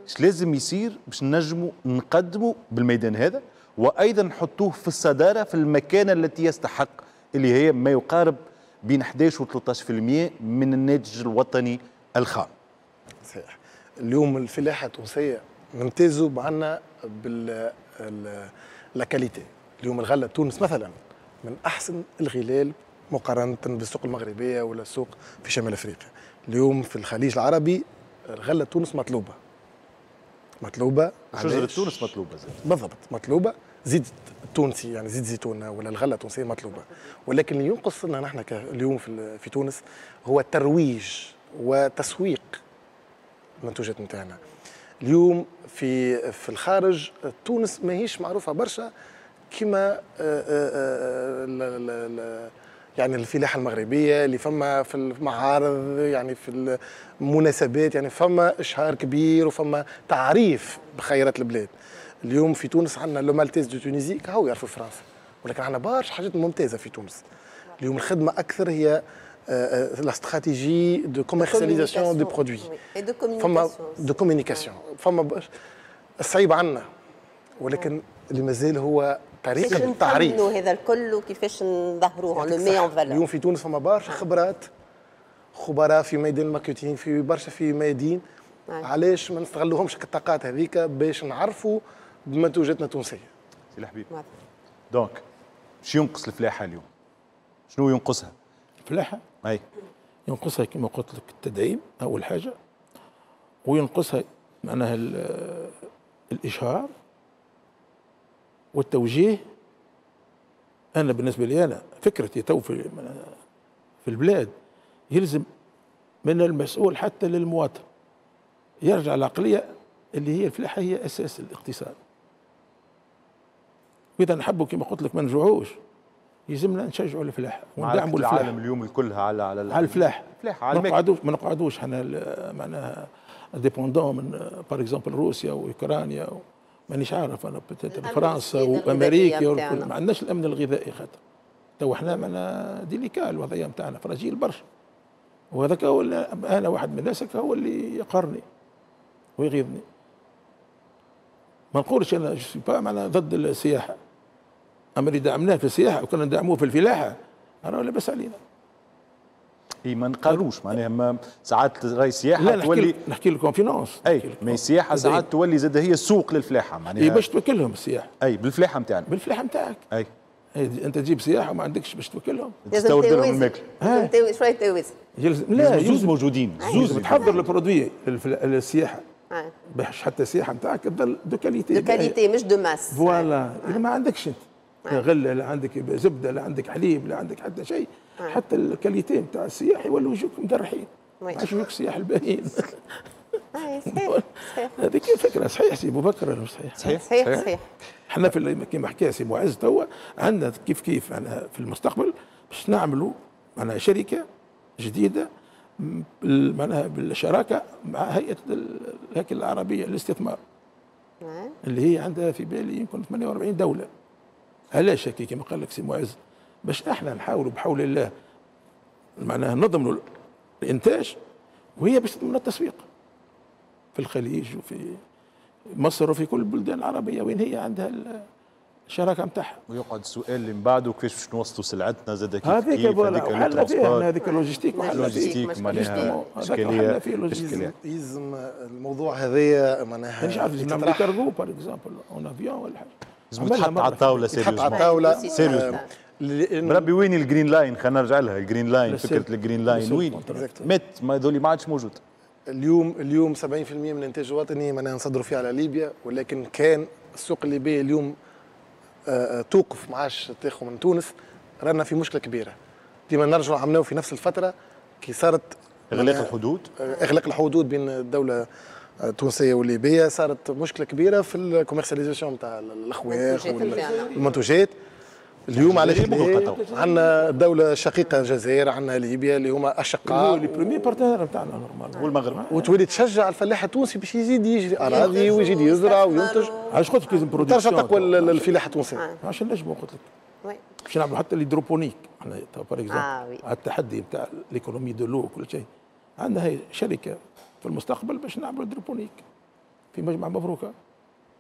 اش لازم يصير باش نجموا نقدموا بالميدان هذا وايضا نحطوه في الصدارة في المكانة التي يستحق، اللي هي ما يقارب بين 11 و 13% من الناتج الوطني الخام؟ صحيح. اليوم الفلاحة التونسية نمتازوا معنا بال la qualité. اليوم الغلة تونس مثلا من احسن الغلال مقارنة بالسوق المغربية ولا السوق في شمال افريقيا. اليوم في الخليج العربي الغلة تونس مطلوبه. مطلوبه. شجرة تونس مطلوبه زي. بالضبط مطلوبه، زيت التونسي يعني زيت زيتونه ولا الغلة التونسية مطلوبه، ولكن اللي ينقص لنا نحن اليوم في تونس هو الترويج وتسويق المنتوجات نتاعنا. اليوم في الخارج تونس ماهيش معروفة برشا كما يعني الفلاحة المغربية اللي فما في المعارض، يعني في المناسبات، يعني فما اشهار كبير وفما تعريف بخيرات البلاد. اليوم في تونس عندنا le Maltese de Tunisie كهو يعرفوا فرنسا، ولكن عندنا برشا حاجات ممتازة في تونس. اليوم الخدمة اكثر هي la stratégie de commercialisation des produits فما de communication. فما الصعيب عندنا، ولكن اللي مازال هو طريقه التعريف هذا الكل وكيفاش نظهروه le met en valeur. اليوم في تونس فما برشا خبرات، خبراء في ميدان ال marketing، في برشا في ميادين. علاش ما نستغلوهمش الطاقات هذيك باش نعرفوا بمنتوجاتنا التونسية؟ سي الحبيب، donc شو ينقص الفلاحة اليوم؟ شنو ينقصها؟ الفلاحة؟ اي ينقصها كما قلت لك التدعيم اول حاجة، وينقصها معناها الاشهار والتوجيه. انا بالنسبة لي انا فكرتي تو في البلاد يلزم من المسؤول حتى للمواطن يرجع العقلية اللي هي الفلاحة هي اساس الاقتصاد. واذا نحبوا كما قلت لك ما نجوعوش، يلزمنا نشجعوا الفلاحة وندعموا الفلاحة. العالم اليوم كلها على على الفلاح، ما نقعدوش احنا معناها dépendants من par exemple روسيا واوكرانيا، مانيش عارف انا فرنسا وامريكا، ما عندناش الامن الغذائي. خاطر تو احنا معنا délicat الوضعية نتاعنا fragile برشا، وهذاك هو انا واحد من الناس هو اللي يقهرني ويغيظني. ما نقولش انا je suis pas معناها ضد السياحة، اما اللي دعمناه في السياحة وكنا ندعموه في الفلاحة راه لاباس علينا. اي ما نقاروش معناها، ما ساعات راهي السياحة تولي، نحكي لكم finance، اي ما السياحة ساعات تولي زاد هي السوق للفلاحه معناها، اي باش توكلهم السياحة، اي بالفلاحه نتاعنا، بالفلاحه نتاعك، اي انت تجيب سياحة وما عندكش باش توكلهم، تستورد لهم الماكلة، شوية توازن. لا زوز موجودين، زوز تحضر ال produit للسياحة باش حتى السياحة نتاعك تظل de qualité، de qualité مش de masse. voilà، اذا ما عندكش انت غله، لا عندك زبدة، لا عندك حليب، لا عندك حتى شيء، حتى ال qualité نتاع السياح يولوا يجوك مدرحين، ما عادش يجوك السياح الباهيين. صحيح صحيح، هذيك الفكرة. صحيح سي ابو بكر ولا مش صحيح؟ صحيح صحيح صحيح. احنا في كما حكى سي معز توا عندنا كيف كيف معناها في المستقبل باش نعملوا معناها شركة جديدة معناها بالشراكة مع هيئة الهيكل العربية للاستثمار اللي هي عندها في بالي يمكن 48 دولة. علاش هكا كما قال لك سي معز؟ باش احنا نحاولوا بحول الله معناها نضمنوا الانتاج، وهي باش تضمن التسويق في الخليج وفي مصر وفي كل البلدان العربية وين هي عندها الشراكة نتاعها. ويقعد السؤال اللي من بعده كيفاش باش نوصلوا سلعتنا زاد كيف هذيك هذيك فيها هذيك ال logistique، ال logistique معناها اشكالية اشكالية. يلزم الموضوع هذايا معناها مانيش عارف نعملوا cargo par exemple en avion ولا حاجة، لازم تحط على الطاولة sérieusement، تحط على الطاولة sérieusement. بربي وين ال Green Line؟ خلينا نرجع لها ال Green Line، فكرة ال Green Line وين؟ مات ما هذول ما عادش موجود. اليوم 70% من الانتاج الوطني معناها نصدروا فيه على ليبيا، ولكن كان السوق الليبية اليوم توقف ما عادش تاخذ من تونس، رانا في مشكلة كبيرة. ديما نرجعوا عملناه في نفس الفترة كي صارت اغلاق الحدود، اغلاق الحدود بين الدولة التونسية والليبيه، صارت مشكلة كبيرة في ال commercialisation نتاع الخواخ والمنتوجات. اليوم علاش عندنا دولة شقيقه الجزائر، عندنا ليبيا اللي هما اشقاء، les premiers partenaires نتاعنا normal، والمغرب، وتولي تشجع الفلاح التونسي باش يزيد يجري اراضي ويزيد يزرع وينتج. علاش قلت لك لازم production ترجع تقوى الفلاحة التونسية، عشان نجموا قلت لك باش نعملوا حتى l'hydroponique احنا par exemple على التحدي نتاع l'économie de l'eau وكل شيء. عندنا هي شركة في المستقبل باش نعملوا hydroponique في مجمع مبروكه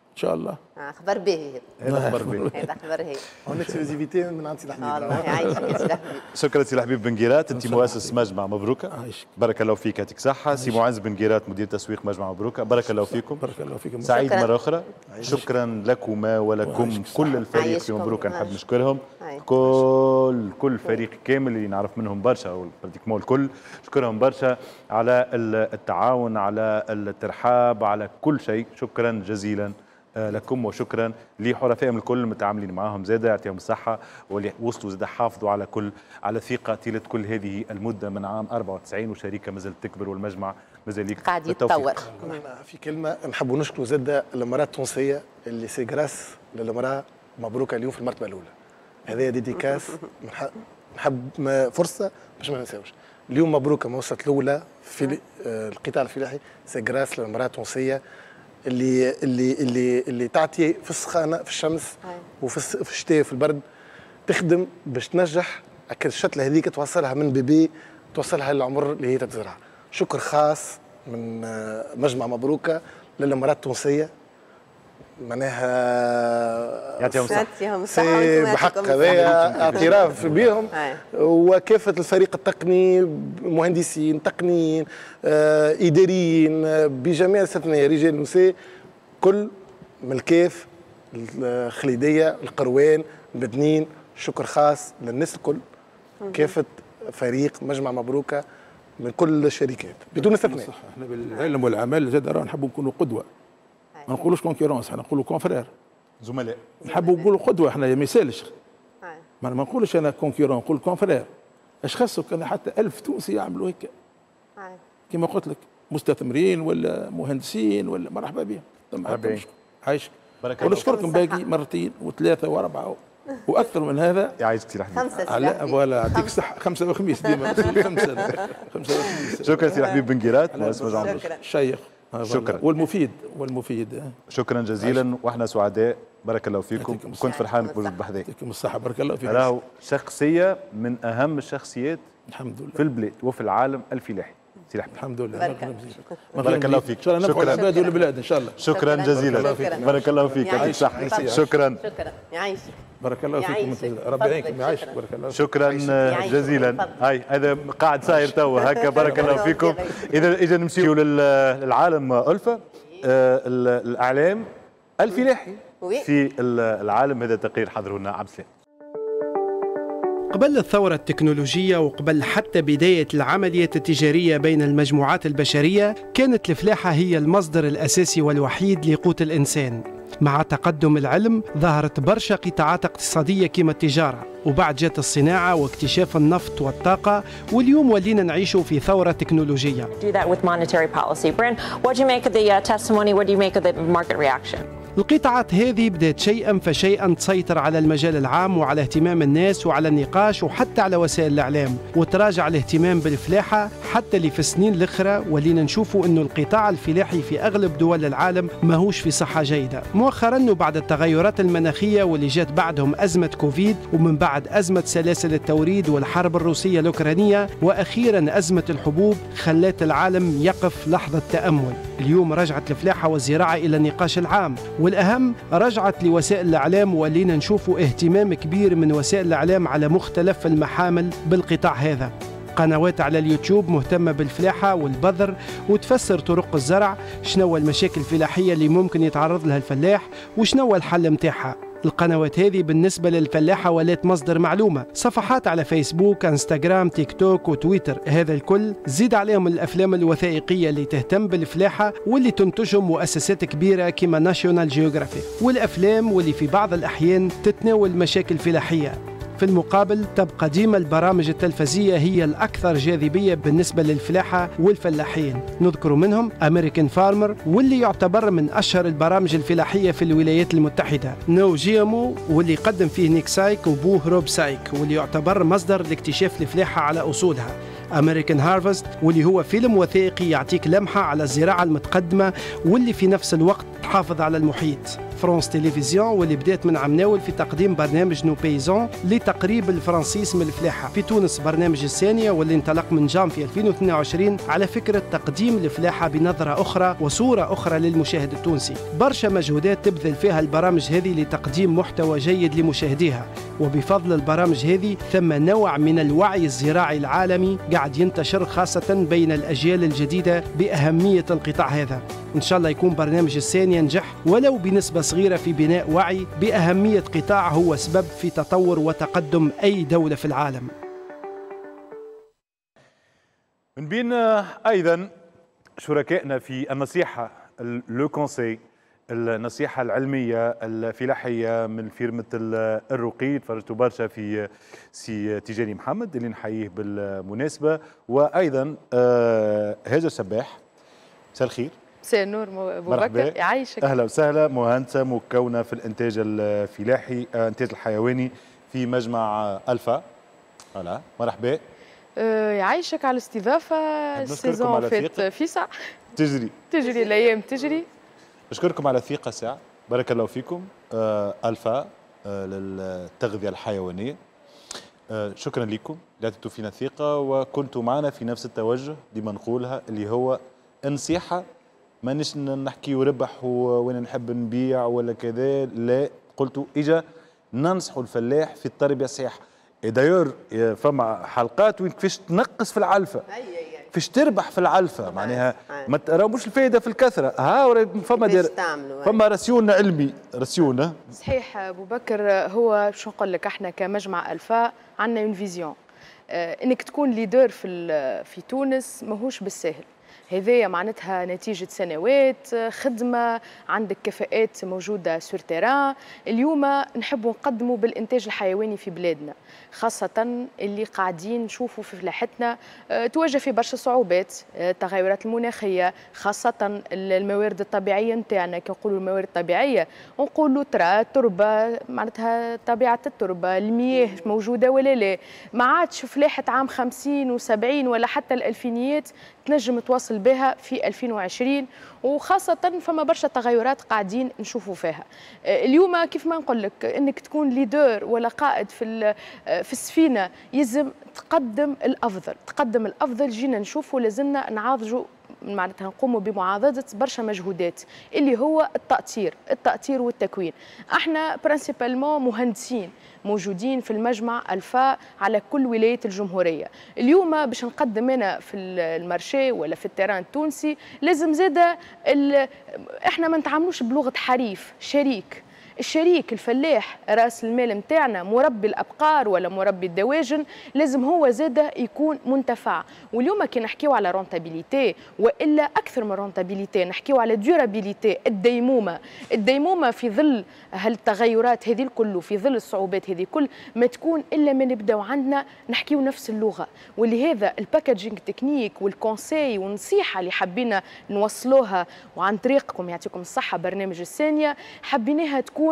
ان شاء الله. خبر باهي هذا، خبر باهي هذا، خبر هاي en exclusivité من عند سي الحبيب. الله يعيشك يا سي الحبيب. شكرا سي الحبيب بن قيرات، انت مؤسس مجمع مبروكه، بارك الله فيك، يعطيك صحة. سي معز بن قيرات مدير تسويق مجمع مبروكه، بارك الله فيكم. بارك الله فيكم. سعيد مرة اخرى، شكرا لكما ولكم كل الفريق في مبروكه، نحب نشكرهم كل فريق كامل اللي نعرف منهم برشا او pratiquement الكل، نشكرهم برشا على التعاون، على الترحاب، على كل شيء. شكرا جزيلا لكم، وشكرا لحرفائهم الكل المتعاملين معاهم زاده، يعطيهم الصحة، واللي وصلوا زاده حافظوا على كل على ثقة طيلة كل هذه المدة من عام 94، وشركه مازالت تكبر والمجمع مازال يكبر قاعد يتطور. في كلمة نحبوا نشكروا زاده المراة التونسية اللي c'est grâce للمراة مبروكه اليوم في المرتبة الاولى. هذا dédicace، نحب فرصة باش ما ننساوش. اليوم مبروكه ما وصلت الاولى في القطاع الفلاحي، c'est grâce للمراة التونسية اللي اللي اللي اللي تعطي في السخانه في الشمس وفي الشتاء في البرد، تخدم باش تنجح الشتله هذيك توصلها من bébé توصلها للعمر اللي هي تتزرع. شكر خاص من مجمع مبروكه للمراة التونسية، معناها يعطيهم الصحة بحق هذايا اعتراف بهم، وكافة الفريق التقني، مهندسين، تقنيين، إداريين، بجميع الاستثناء رجال ونساء، كل من الكاف، الخليدية، القروان، البدنين. شكر خاص للناس الكل، كافة فريق مجمع مبروكة من كل الشركات بدون استثناء. احنا بالعلم والعمل زاد راه نحبوا نكونوا قدوة، ما نقولوش concurrence، احنا نقولوا confrères، زملاء، نحبوا نقولوا قدوة. احنا ما يسالش، ما نقولش انا concurrent، نقول confrère. اش خصو كان حتى 1000 تونسي يعملوا هيك، كما قلت لك مستثمرين ولا مهندسين ولا، مرحبا بهم. عايشك، ونشكركم باقي مرتين وثلاثة واربعة واكثر من هذا. يعيشك سي الحبيب. خمسة voilà، يعطيك الصحة. 5 وخميس ديما 5 وخميس. شكرا سي الحبيب بن قيرات، مؤسس مجمع الشيخ. شكرا. والمفيد. شكرا جزيلا، واحنا سعداء، بارك الله فيكم. كنت فرحان بوجود بحذاك. يعطيكم الصحة، بارك الله فيك. راهو شخصية من أهم الشخصيات الحمد لله في البلاد وفي العالم الفلاحي. سي الحبيب. الحمد لله، بارك الله فيك. ان شاء الله نفعوا العباد والبلاد ان شاء الله. شكرا جزيلا، بارك الله فيك، يعطيك الصحة. شكرا. شكرا، يعيشك. بارك الله فيكم، ربي يعينكم، يعيشك، بارك الله. شكرا جزيلا. هاي هذا قاعد صاير توا هكا، بارك الله فيكم. اذا نمشيو للعالم ألفة، الاعلام الفلاحي في العالم. هذا تقرير حضره لنا عبد السلام. قبل الثورة التكنولوجية وقبل حتى بداية العمليات التجارية بين المجموعات البشرية، كانت الفلاحة هي المصدر الأساسي والوحيد لقوت الإنسان. مع تقدم العلم ظهرت برشا قطاعات اقتصادية كما التجارة، وبعد جات الصناعة واكتشاف النفط والطاقة، واليوم ولينا نعيش في ثورة تكنولوجية. القطاعات هذه بدأت شيئا فشيئا تسيطر على المجال العام وعلى اهتمام الناس وعلى النقاش وحتى على وسائل الإعلام، وتراجع الاهتمام بالفلاحة حتى اللي في السنين الأخرى ولينا نشوفوا أنه القطاع الفلاحي في أغلب دول العالم ماهوش في صحة جيدة. مؤخرا وبعد التغيرات المناخية واللي جات بعدهم أزمة كوفيد، ومن بعد أزمة سلاسل التوريد والحرب الروسية الأوكرانية، وأخيرا أزمة الحبوب، خلت العالم يقف لحظة تأمل. اليوم رجعت الفلاحة والزراعة إلى النقاش العام، والأهم رجعت لوسائل الإعلام، ولينا نشوفوا اهتمام كبير من وسائل الإعلام على مختلف المحامل بالقطاع هذا. قنوات على اليوتيوب مهتمة بالفلاحة والبذر وتفسر طرق الزرع، شنو المشاكل الفلاحية اللي ممكن يتعرض لها الفلاح وشنو الحل متاعها. القنوات هذه بالنسبة للفلاحة ولات مصدر معلومة. صفحات على فيسبوك، انستغرام، تيك توك وتويتر، هذا الكل زيد عليهم الأفلام الوثائقية اللي تهتم بالفلاحة واللي تنتجهم مؤسسات كبيرة كما ناشيونال جيوغرافيك، والأفلام واللي في بعض الأحيان تتناول مشاكل فلاحية. في المقابل تبقى ديما البرامج التلفزية هي الأكثر جاذبية بالنسبة للفلاحة والفلاحين. نذكر منهم American Farmer واللي يعتبر من أشهر البرامج الفلاحية في الولايات المتحدة، No GMO واللي قدم فيه نيك سايك وبوه روب سايك واللي يعتبر مصدر لاكتشاف الفلاحة على أصولها، American Harvest واللي هو فيلم وثائقي يعطيك لمحة على الزراعة المتقدمة واللي في نفس الوقت تحافظ على المحيط، France Télévisions واللي بدات من عمناول في تقديم برنامج Nos Paysans لتقريب الفرنسيس من الفلاحة. في تونس برنامج السانية واللي انطلق من جانفي 2022 على فكرة تقديم الفلاحة بنظرة أخرى وصورة أخرى للمشاهد التونسي. برشا مجهودات تبذل فيها البرامج هذه لتقديم محتوى جيد لمشاهديها، وبفضل البرامج هذه ثم نوع من الوعي الزراعي العالمي قاعد ينتشر خاصة بين الأجيال الجديدة بأهمية القطاع هذا. إن شاء الله يكون برنامج السانية ينجح ولو بنسبة صغيرة في بناء وعي بأهمية قطاع هو سبب في تطور وتقدم أي دولة في العالم. من بين أيضا شركائنا في النصيحة le conseil، النصيحة العلمية الفلاحية من فيرمة الرقي، تفرجتوا برشا في سي تيجاني محمد اللي نحييه بالمناسبة، وأيضا هاجر سباح. مساء الخير. مساء النور ابو بكر، يعيشك. اهلا وسهلا، مهندسه مكونة في الانتاج الفلاحي، الانتاج الحيواني في مجمع الفا. هلا مرحبا. يعيشك على الاستضافة. ال saison فات فيسع تجري الايام تجري. نشكركم على الثقة ساعة، بارك الله فيكم. الفا للتغذيه الحيوانية، شكرا لكم اللي عطيتوا فينا ثقة وكنتوا معنا في نفس التوجه ديما نقولها اللي هو النصيحة، مانيش نحكي وربح وانا نحب نبيع ولا كذا، لا، قلتوا اجا ننصحوا الفلاح في التربية الصحيحة. d'ailleurs فما حلقات وين كيفاش تنقص في العلفه، كيفاش تربح في العلفه، معناها ما تراوش الفائدة في الكثرة. ها فما فما ration علمي، ration. صحيح ابو بكر، هو شو نقول لك، احنا كمجمع الفا عندنا une vision، انك تكون leader في تونس ماهوش بالساهل. هذايا معناتها نتيجة سنوات خدمة، عندك كفاءات موجودة sur terrain. اليوم نحبوا نقدموا بالإنتاج الحيواني في بلادنا، خاصة اللي قاعدين نشوفوا في فلاحتنا تواجه في برشا صعوبات، التغيرات المناخية، خاصة الموارد الطبيعية نتاعنا. كي نقولوا الموارد الطبيعية نقولوا ترى التربة، معناتها طبيعة التربة، المياه موجودة ولا لا. ما عادش فلاحة عام 50 و70 ولا حتى الألفينيات تنجم تواصل بها في 2020، وخاصة فما برشا تغيرات قاعدين نشوفوا فيها اليوم. كيف ما نقول لك، انك تكون leader ولا قائد في السفينة يلزم تقدم الافضل، تقدم الافضل. جينا نشوفوا لازمنا نعاضجوا، معناتها نقوموا بمعاضدة برشا مجهودات اللي هو التأطير، التأطير والتكوين. احنا principalement مهندسين موجودين في المجمع الفا على كل ولايات الجمهورية. اليوم باش نقدم انا في ال marché ولا في ال terrain التونسي لازم زاده احنا ما نتعاملوش بلغة حريف، شريك. الشريك الفلاح راس المال نتاعنا، مربي الابقار ولا مربي الدواجن، لازم هو زاده يكون منتفع. واليوم كي نحكيو على rentabilité والا اكثر من rentabilité، نحكيو على durabilité، الديمومه. الديمومه في ظل هالتغيرات هذه الكل وفي ظل الصعوبات هذه الكل ما تكون الا ما نبداو عندنا نحكيو نفس اللغة. ولهذا ال packaging technique وال conseil والنصيحة اللي حبينا نوصلوها وعن طريقكم يعطيكم الصحة برنامج السانيه، حبيناها تكون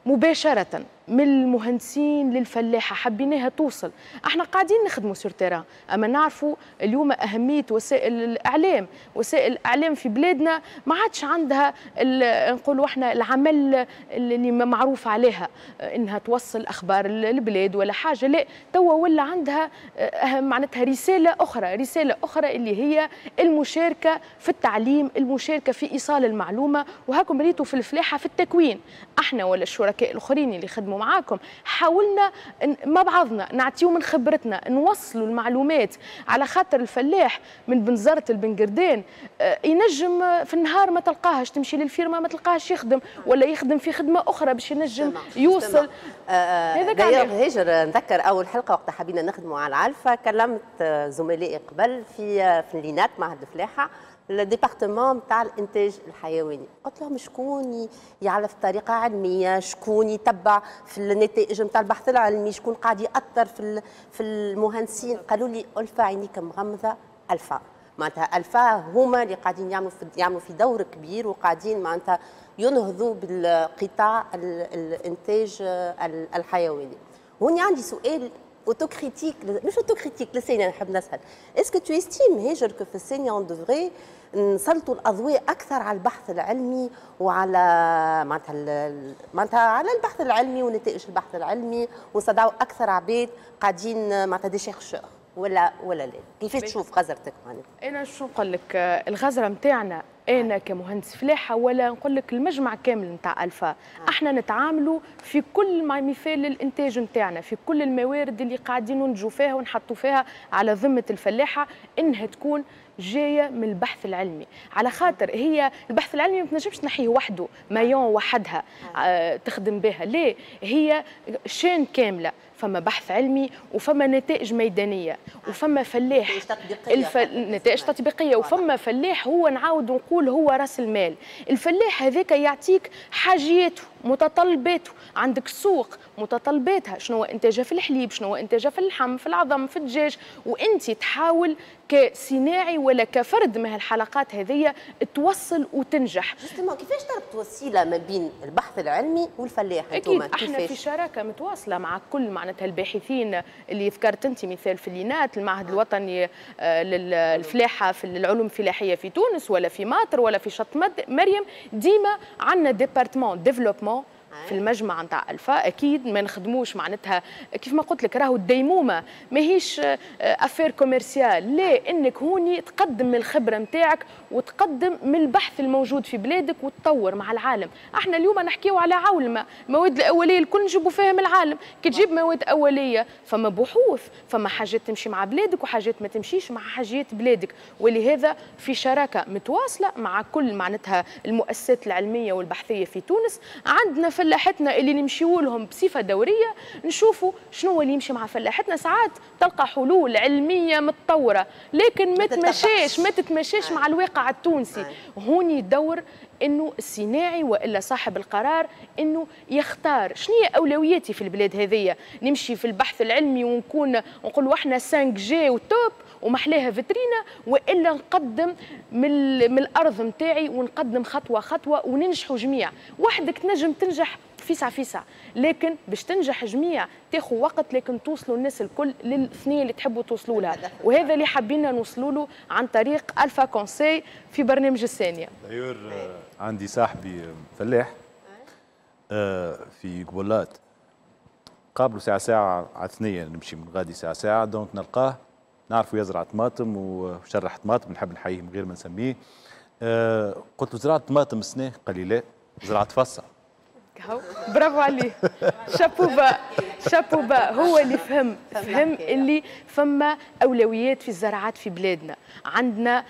مباشرة من المهندسين للفلاحة، حبيناها توصل. احنا قاعدين نخدموا sur terrain، اما نعرفوا اليوم اهمية وسائل الاعلام. وسائل الاعلام في بلادنا ما عادش عندها، نقولوا احنا، العمل اللي معروف عليها انها توصل اخبار البلاد ولا حاجة، لا، توا ولا عندها معناتها رسالة اخرى، رسالة اخرى اللي هي المشاركة في التعليم، المشاركة في ايصال المعلومة. وهاكم ريتوا في الفلاحة في التكوين، احنا ولا الشركاء الاخرين اللي خدموا معاكم حاولنا مع بعضنا نعطيو من خبرتنا، نوصلوا المعلومات، على خاطر الفلاح من بنزرت البنقردان ينجم في النهار ما تلقاهش، تمشي لل ferme ما تلقاهش يخدم ولا يخدم في خدمة اخرى باش ينجم يوصل. هذاك هاجر، نذكر اول حلقة وقت حبينا نخدموا على العلفه، كلمت زملائي قبل في l'INAT معهد الفلاحة، ال département نتاع الانتاج الحيواني، قلت لهم شكون يعرف بطريقة علمية، شكون يتبع في النتائج نتاع البحث العلمي، شكون قاعد يأطر في المهندسين. قالوا لي الفا، عينيك مغمضه، الفا. معناتها الفا هما اللي قاعدين يعملوا في دور كبير وقاعدين معناتها ينهضوا بالقطاع الانتاج الحيواني. هوني عندي سؤال autocritique، مش autocritique للسانية، نحب نسال est-ce que tu estimes هاجر que في السانية on devrait نسلطوا الاضواء اكثر على البحث العلمي وعلى معناتها على البحث العلمي ونتائج البحث العلمي، ونستدعوا اكثر عباد قاعدين معناتها des chercheurs ولا لا؟ كيفاش تشوف غزرتك معناتها؟ انا شو نقول لك، الغزره نتاعنا انا كمهندس فلاحة ولا نقول لك المجمع كامل نتاع الفا، احنا نتعاملوا في كل ما مثال الانتاج نتاعنا، في كل الموارد اللي قاعدين ننتجوا فيها ونحطوا فيها على ذمه الفلاحة، انها تكون جاية من البحث العلمي، على خاطر هي البحث العلمي ما تنجمش تنحيه وحده، maillon وحدها تخدم بها، لا، هي chaîne كامله. فما بحث علمي وفما نتائج ميدانية وفما فلاح. نتائج تطبيقيه، وفما فلاح هو نعاود نقول هو راس المال. الفلاح هذاك يعطيك حاجياته، متطلباته، عندك سوق متطلباتها، شنو هو انتاجها في الحليب، شنو هو انتاجها في اللحم، في العظم، في الدجاج، وانت تحاول كصناعي ولا كفرد من هالحلقات هذيا توصل وتنجح. justement، كيفاش تربط وسيلة ما بين البحث العلمي والفلاح؟ اكيد احنا في شراكة متواصلة مع كل معناتها الباحثين اللي ذكرت انت، مثال في l'INAT، المعهد الوطني للفلاحه في العلوم الفلاحية في تونس، ولا في ماطر ولا في شط مريم، ديما عندنا département développement. في المجمع نتاع الفا. اكيد ما نخدموش معناتها كيف ما قلت لك، راهو الديمومه ماهيش affaire commerciale، لا، انك هوني تقدم من الخبرة نتاعك وتقدم من البحث الموجود في بلادك وتطور مع العالم. احنا اليوم نحكيو على عولمه، المواد الاولية الكل نجيبوا فيها من العالم، كي تجيب مواد اوليه فما بحوث، فما حاجات تمشي مع بلادك وحاجات ما تمشيش مع حاجات بلادك، ولهذا في شراكة متواصلة مع كل معناتها المؤسسات العلمية والبحثيه في تونس. عندنا فلاحتنا اللي نمشيو لهم بصفة دورية، نشوفوا شنو اللي يمشي مع فلاحتنا. ساعات تلقى حلول علمية متطورة لكن ما تتمشاش مع الواقع التونسي. هوني دور انه الصناعي والا صاحب القرار انه يختار شنو هي اولوياتي في البلاد هذيا. نمشي في البحث العلمي ونكون نقولوا احنا 5G و top ومحلاها فيترينا، والا نقدم من الارض نتاعي ونقدم خطوة خطوة وننجحوا جميع. وحدك تنجم تنجح فيسع فيسع، لكن باش تنجح جميع تاخذ وقت، لكن توصلوا الناس الكل للثنيه اللي تحبوا توصلوا لها، وهذا اللي حبينا نوصلوا له عن طريق الفا conseil في برنامج الثانية. d'ailleurs عندي صاحبي فلاح في قبولات، قابلوا ساعة ساعة على ثنيه، نمشي من غادي ساعة ساعة، donc نلقاه نعرفه يزرع طماطم وشرح طماطم، نحب نحييه من غير ما نسميه. قلت له زرعت طماطم السنة؟ قال لي لا، زرعت فصه. برافو عليه، chapeau bas chapeau bas. هو اللي فهم اللي فما اولويات في الزراعات في بلادنا. عندنا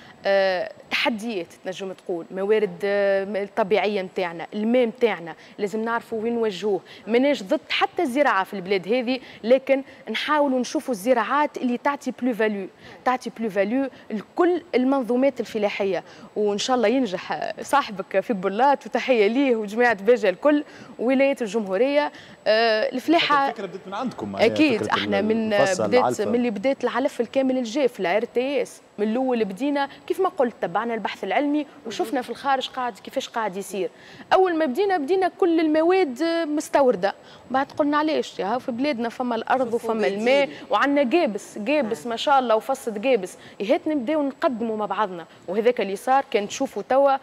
تحديات تنجم تقول، موارد الطبيعية نتاعنا، الماء نتاعنا لازم نعرفوا وين نوجهوه. ماناش ضد حتى الزراعة في البلاد هذه، لكن نحاولوا نشوفوا الزراعات اللي تعطي plus-value، تعطي plus-value لكل المنظومات الفلاحية. وان شاء الله ينجح صاحبك في بلات، وتحية ليه وجماعه باجه الكل ولايات الجمهورية. الفلاحة الفكرة بدات من عندكم. اكيد احنا من بدات، من اللي بدات العلف الكامل الجاف لا RTS من الاول بدينا كيف ما قلت، تبعنا البحث العلمي وشفنا في الخارج قاعد كيفاش قاعد يصير. اول ما بدينا كل المواد مستورده، بعد قلنا علاش يا في بلادنا فما الارض وفما الماء وعندنا جابس جابس ما شاء الله وفصة جابس، هات نبداو نقدموا مع بعضنا. وهذاك اللي صار. كان تشوفوا توا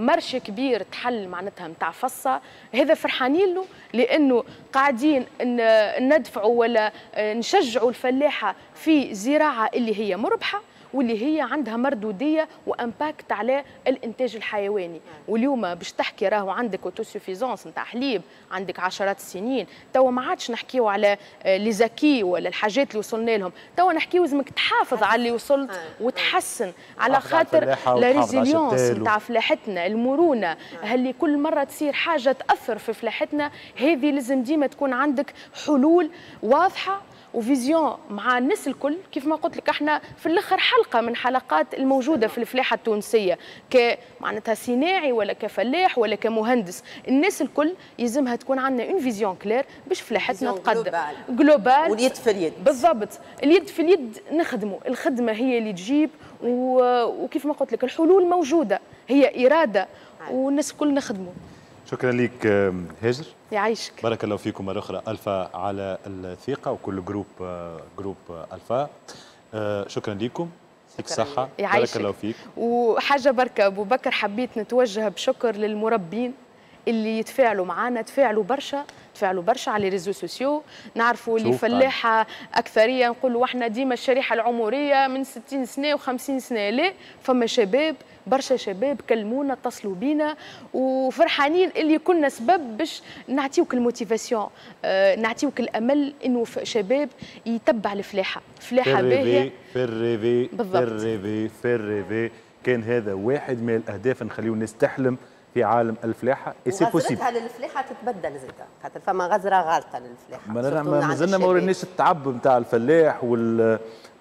marché كبير تحل معناتها نتاع فصه، هذا فرحانين له لانه قاعدين ندفعوا ولا نشجعوا الفلاحة في زراعة اللي هي مربحة واللي هي عندها مردوديه و impact على الانتاج الحيواني. واليوم باش تحكي راهو عندك autosuffisance نتاع حليب عندك عشرات السنين، توا ما عادش نحكيو على les acquis ولا الحاجات اللي وصلنا لهم، توا نحكيو لازمك تحافظ على اللي وصلت وتحسن على خاطر la résilience نتاع فلاحتنا، المرونة، هل كل مرة تصير حاجة تاثر في فلاحتنا هذه لازم ديما تكون عندك حلول واضحة و vision مع الناس الكل. كيف ما قلت لك احنا في الاخر حلقة من حلقات الموجودة في الفلاحة التونسية، كمعناتها صناعي ولا كفلاح ولا كمهندس، الناس الكل يلزمها تكون عندنا une vision claire باش فلاحتنا تقدم globale، واليد في اليد. بالضبط، اليد في اليد نخدموا، الخدمة هي اللي تجيب. وكيف ما قلت لك الحلول موجودة، هي اراده والناس الكل نخدموا. شكرا لك هاجر، يعيشك، بارك الله فيكم مرة أخرى ألفا على الثقة وكل groupe ألفا. شكرا لكم، يعطيك الصحة، بارك الله فيك. وحاجة بركة أبو بكر، حبيت نتوجه بشكر للمربين اللي يتفاعلوا معنا، تفاعلوا برشا على les réseaux sociaux. نعرفوا اللي فلاحة اكثرية نقولوا احنا ديما الشريحة العمرية من 60 سنة و50 سنة، لا فما شباب، برشا شباب كلمونا اتصلوا بينا وفرحانين اللي كنا سبب باش نعطيوك ال motivation، نعطيوك الامل انه شباب يتبع الفلاحة، فلاحة باهيه. faire rêver faire rêver faire rêver، كان هذا واحد من الاهداف، نخليو الناس تحلم في عالم الفلاحة. et c'est possible. غزرتها للفلاحه تتبدل زاده، خاطر فما غزره غالطه للفلاحه. مازلنا ما وريناش التعب نتاع الفلاح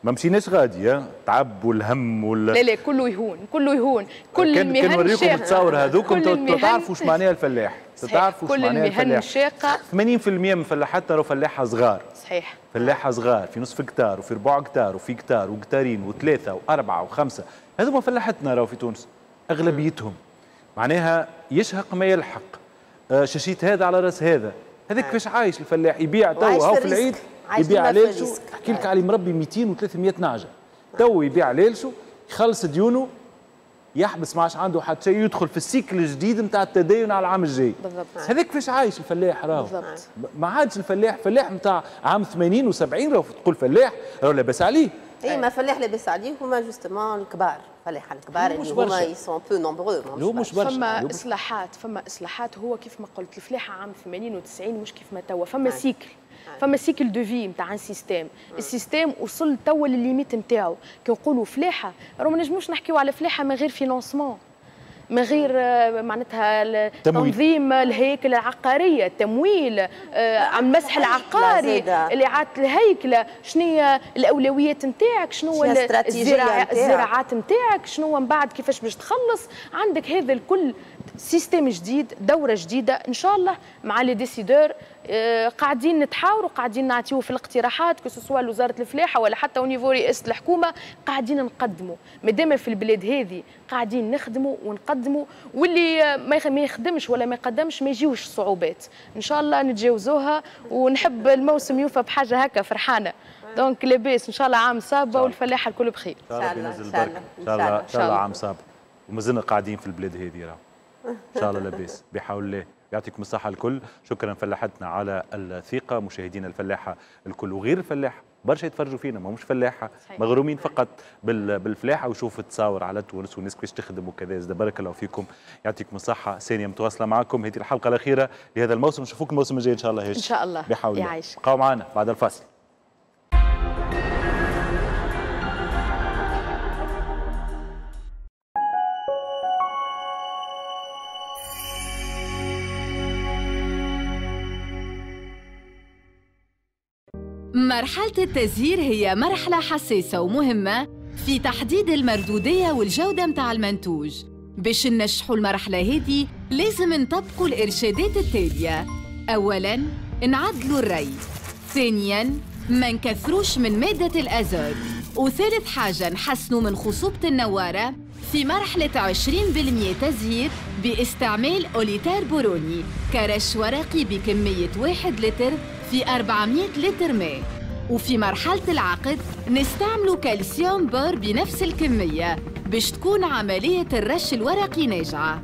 ما مشيناش غادي، التعب والهم لا لا كله يهون، كله يهون، كل المهن كان نوريكم التصاور هذوكم تعرفوا واش معناها الفلاح، تعرفوا واش معناها الفلاح. كل المهن شاقه. 80% من فلاحاتنا راهو فلاحة صغار. صحيح، فلاحة صغار في نصف هكتار وفي ربع هكتار وفي هكتار وهكتارين وثلاثة واربعة وخمسة، هذوما فلاحتنا راهو في تونس اغلبيتهم. معناها يشهق ما يلحق، شاشيت هذا على راس هذا، هذاك كيفاش عايش الفلاح، يبيع تو هاو في العيد يبيع علالشو، نحكي لك علي مربي 200 و300 نعجة، تو يبيع علالشو يخلص ديونه يحبس ما عادش عنده حتى شيء، يدخل في ال cycle الجديد نتاع التدين على العام الجاي. بالضبط. هذاك كيفاش عايش الفلاح راهو. بالضبط. ما عادش الفلاح فلاح نتاع عام 80 و70 راهو، تقول فلاح راهو لاباس عليه. اي ما فلاح لاباس عليه، هما justement الكبار، فلاح الكبار اللي هما ils sont peu nombreux. مش برشا. فما اصلاحات، فما اصلاحات. هو كيف ما قلت الفلاحة عام 80 و90 مش كيف ما توا، فما cycle، فما cycle de vie نتاع un système، ال système وصل توا لل limite نتاعو. كي نقولوا فلاحة راهو ما نجموش نحكيو على فلاحة من غير financement، من غير معناتها تنظيم الهيكل العقارية، التمويل، المسح العقاري، اعاده الهيكله، شنو هي الاولويات نتاعك، شنو الزراعات نتاعك، شنو من بعد كيفاش باش تخلص. عندك هذا الكل système جديد، دوره جديدة ان شاء الله مع les décideurs. قاعدين نتحاوروا، قاعدين نعطيو في الاقتراحات، que ce soit وزارة الفلاحة ولا حتى au niveau رئاسة الحكومة، قاعدين نقدموا. مادام في البلاد هذه قاعدين نخدموا ونقدموا، واللي ما يخدمش ولا ما يقدمش ما يجيوش صعوبات، ان شاء الله نتجاوزوها. ونحب الموسم يوفى بحاجة هكا فرحانة، donc لاباس ان شاء الله، عام صابه والفلاحه الكل بخير. ان شاء الله ينزل البركة، ان شاء الله، ان شاء الله عام صابه ومازلنا قاعدين في البلاد هذه راه ان شاء الله لاباس بحول الله. يعطيكم الصحة الكل، شكرا فلاحتنا على الثقة، مشاهدينا الفلاحة الكل وغير الفلاحة برشا يتفرجوا فينا، ما همش فلاحة، مغرومين فقط بالفلاحة ويشوفوا التصاور على تونس والناس كيفاش تخدم وكذا. زاد بارك الله فيكم، يعطيكم الصحة. ثانية متواصلة معكم، هذه الحلقة الأخيرة لهذا الموسم، نشوفوكم الموسم الجاي إن شاء الله. إن شاء الله بحول الله. بقاو معنا بعد الفاصل. مرحلة التزهير هي مرحلة حساسة ومهمة في تحديد المردودية والجودة متاع المنتوج. باش ننجحوا المرحلة هذه لازم نطبقوا الإرشادات التالية: أولاً، نعدلوا الري، ثانياً، ما نكثروش من مادة الأزوت، وثالث حاجة نحسنوا من خصوبة النوارة في مرحلة 20% تزهير باستعمال أوليتار بوروني كرش ورقي بكمية 1 لتر في 400 لتر ماء. وفي مرحلة العقد نستعملوا calcium bore بنفس الكمية باش تكون عملية الرش الورقي ناجعة.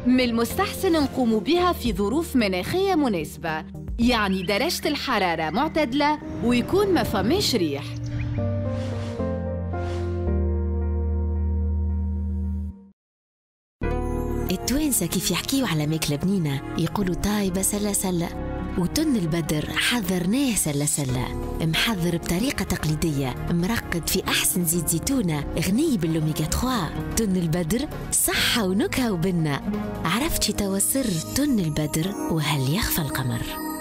من المستحسن نقوم بها في ظروف مناخية مناسبة، يعني درجة الحرارة معتدلة ويكون ما فماش ريح. التوانسة كيف يحكيوا على ماكلة بنينة يقولوا طايبة سلة سلة، وتن البدر حذرناه سلة سلة، محذر بطريقة تقليدية، مرقد في أحسن زيت زيتونة، غني بالأوميغا 3. تن البدر صحة ونكهة وبنة. عرفتي توا سر تن البدر وهل يخفى القمر؟